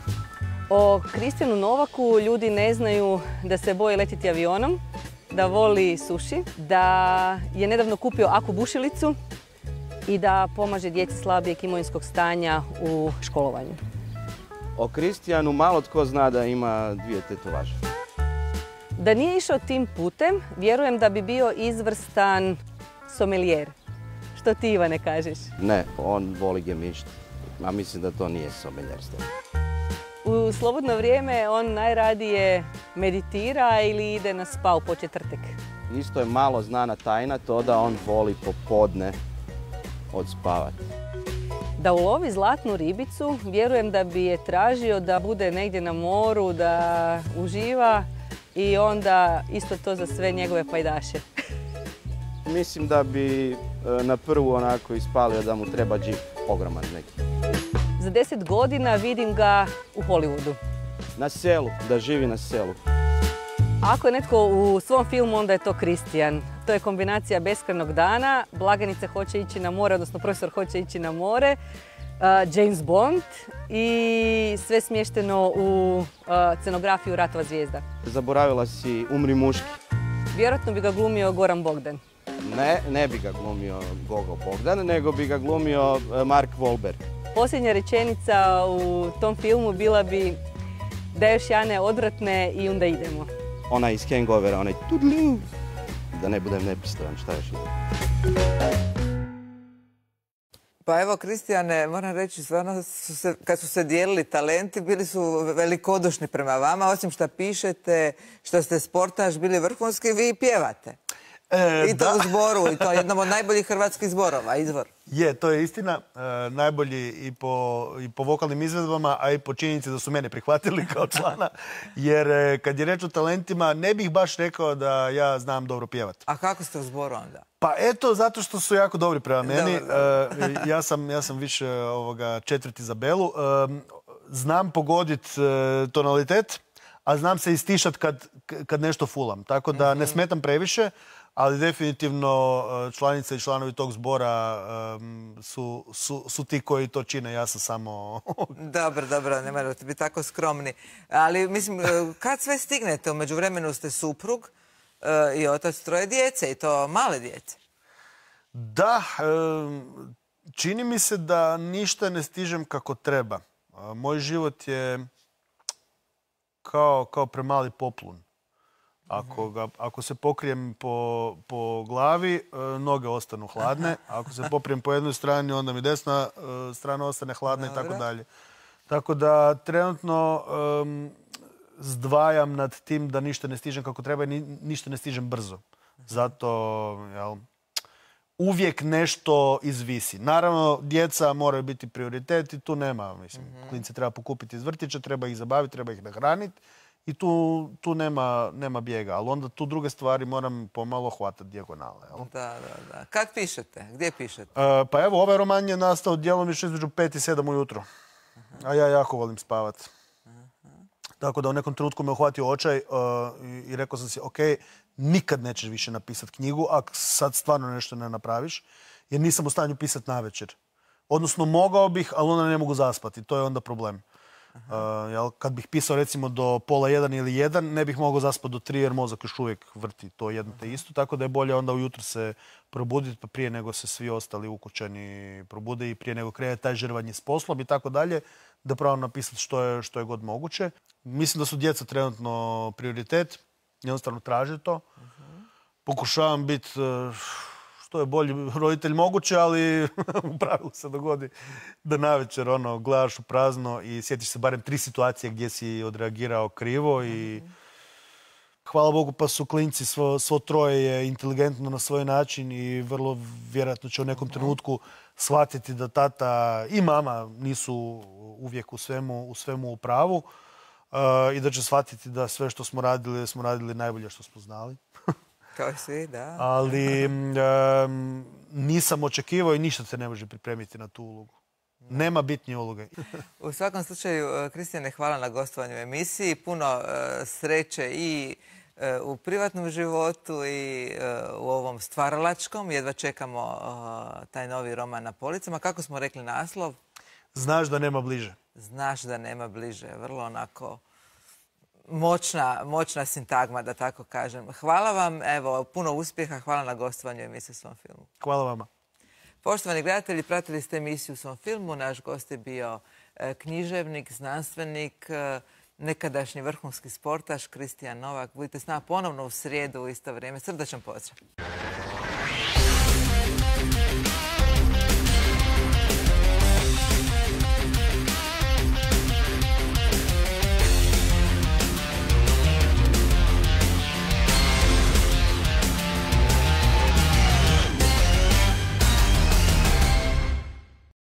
Speaker 5: O Kristijanu Novaku ljudi ne znaju da se boji letiti avionom, da voli suši, da je nedavno kupio aku bušilicu i da pomaže djeci slabijeg imovinskog stanja u školovanju.
Speaker 6: O Kristijanu malo tko zna da ima dvije tetovaže.
Speaker 5: Da nije išao tim putem, vjerujem da bi bio izvrstan somelijer. Što ti, Ivane, kažeš?
Speaker 6: Ne, on voli gemišt, a mislim da to nije somelijerstvo.
Speaker 5: U slobodno vrijeme on najradije meditira ili ide na spa u početvrtek.
Speaker 6: Isto je malo znana tajna to da on voli popodne odspavati.
Speaker 5: Da ulovi zlatnu ribicu, vjerujem da bi je tražio da bude negdje na moru, da uživa i onda isto to za sve njegove pajdaše.
Speaker 6: Mislim da bi na prvu onako ispalio da mu treba džip, ogroman neki.
Speaker 5: Za deset godina vidim ga u Hollywoodu.
Speaker 6: Na selu, da živi na selu.
Speaker 5: Ako je netko u svom filmu, onda je to Kristijan. To je kombinacija beskrajnog dana, blagajnica hoće ići na more, odnosno profesor hoće ići na more, uh, James Bond i sve smješteno u uh, scenografiju Ratova zvijezda.
Speaker 6: Zaboravila si Umri muški.
Speaker 5: Vjerojatno bi ga glumio Goran Bogdan.
Speaker 6: Ne, ne bi ga glumio Gogo Bogdan, nego bi ga glumio Mark Wahlberg.
Speaker 5: Posljednja rečenica u tom filmu bila bi da još Jane odvratne i onda idemo.
Speaker 6: Ona iz Hangovera, onaj tudlu. Da ne budem nepristojan, šta još ide.
Speaker 1: Pa evo, Kristijane, moram reći, stvarno, su se, kad su se dijelili talenti, bili su velikodušni prema vama, osim što pišete, što ste sportaš, bili vrhunski, vi pjevate.
Speaker 2: E,
Speaker 1: I to
Speaker 2: da.
Speaker 1: u zboru, i to je jednom od najboljih hrvatskih zborova, izvor.
Speaker 2: Je, to je istina. E, najbolji i po, i po vokalnim izvedbama, a i po činjenici da su mene prihvatili kao člana. Jer e, kad je reč o talentima, ne bih baš rekao da ja znam dobro pjevati.
Speaker 1: A kako ste u zboru onda?
Speaker 2: Pa eto, zato što su jako dobri prema meni.
Speaker 1: Dobro, dobro.
Speaker 2: E, ja, sam, ja sam više ovoga, četvrti za Belu. E, znam pogodit e, tonalitet, a znam se istišat kad, kad nešto fulam. Tako da ne smetam previše. Ali definitivno članice i članovi tog zbora um, su, su, su ti koji to čine. Ja sam samo...
Speaker 1: Dobro, dobro, ne morate biti tako skromni. Ali, mislim, kad sve stignete, u međuvremenu ste suprug uh, i otac troje djece, i to male djece.
Speaker 2: Da, um, čini mi se da ništa ne stižem kako treba. Uh, moj život je kao, kao premali poplun. Ako, ga, ako se pokrijem po, po glavi, e, noge ostanu hladne. Ako se poprijem po jednoj strani, onda mi desna e, strana ostane hladna. Dobre. I tako dalje. Tako da trenutno um, zdvajam nad tim da ništa ne stižem kako treba i ni, ništa ne stižem brzo. Zato jel, uvijek nešto izvisi. Naravno, djeca moraju biti prioritet i tu nema. Mislim, mm-hmm. Klinci treba pokupiti iz vrtića, treba ih zabaviti, treba ih nahraniti. I tu, tu nema, nema bijega, ali onda tu druge stvari moram pomalo hvatati dijagonale. Jel?
Speaker 1: Da, da, da. Kad pišete? Gdje pišete?
Speaker 2: E, pa evo, ovaj roman je nastao djelomično između pet i sedam ujutro. A ja jako volim spavati. Tako da u nekom trenutku me uhvatio očaj uh, i, i rekao sam si, ok, nikad nećeš više napisati knjigu, ako sad stvarno nešto ne napraviš, jer nisam u stanju pisati navečer. Odnosno, mogao bih, ali onda ne mogu zaspati. To je onda problem. Uh, jel, kad bih pisao recimo do pola jedan ili jedan, ne bih mogao zaspati do tri jer mozak još uvijek vrti to jedno te isto. Tako da je bolje onda ujutro se probuditi pa prije nego se svi ostali ukućani probude i prije nego krene taj žrvanje s poslom i tako dalje, da pravo napisati što je, što je god moguće. Mislim da su djeca trenutno prioritet, jednostavno traže to. Pokušavam biti što je bolji roditelj moguće, ali u pravilu se dogodi da navečer ono, gledaš u prazno i sjetiš se barem tri situacije gdje si odreagirao krivo i hvala Bogu pa su klinci, svo, svo troje je inteligentno na svoj način i vrlo vjerojatno će u nekom trenutku shvatiti da tata i mama nisu uvijek u svemu u, svemu u pravu uh, i da će shvatiti da sve što smo radili, smo radili najbolje što smo znali.
Speaker 1: Kao svi, da.
Speaker 2: Ali um, nisam očekivao i ništa se ne može pripremiti na tu ulogu. Nema bitnije uloge.
Speaker 1: U svakom slučaju, Kristijane, hvala na gostovanju u emisiji. Puno sreće i u privatnom životu i u ovom stvaralačkom. Jedva čekamo taj novi roman na policama. Kako smo rekli naslov?
Speaker 2: Znaš da nema bliže.
Speaker 1: Znaš da nema bliže. Vrlo onako moćna, moćna sintagma, da tako kažem. Hvala vam, evo, puno uspjeha. Hvala na gostovanju u emisiji Svom filmu.
Speaker 2: Hvala vama.
Speaker 1: Poštovani gledatelji, pratili ste emisiju Svom filmu. Naš gost je bio književnik, znanstvenik, nekadašnji vrhunski sportaš Kristijan Novak. Budite s nama ponovno u srijedu u isto vrijeme. Srdačan pozdrav.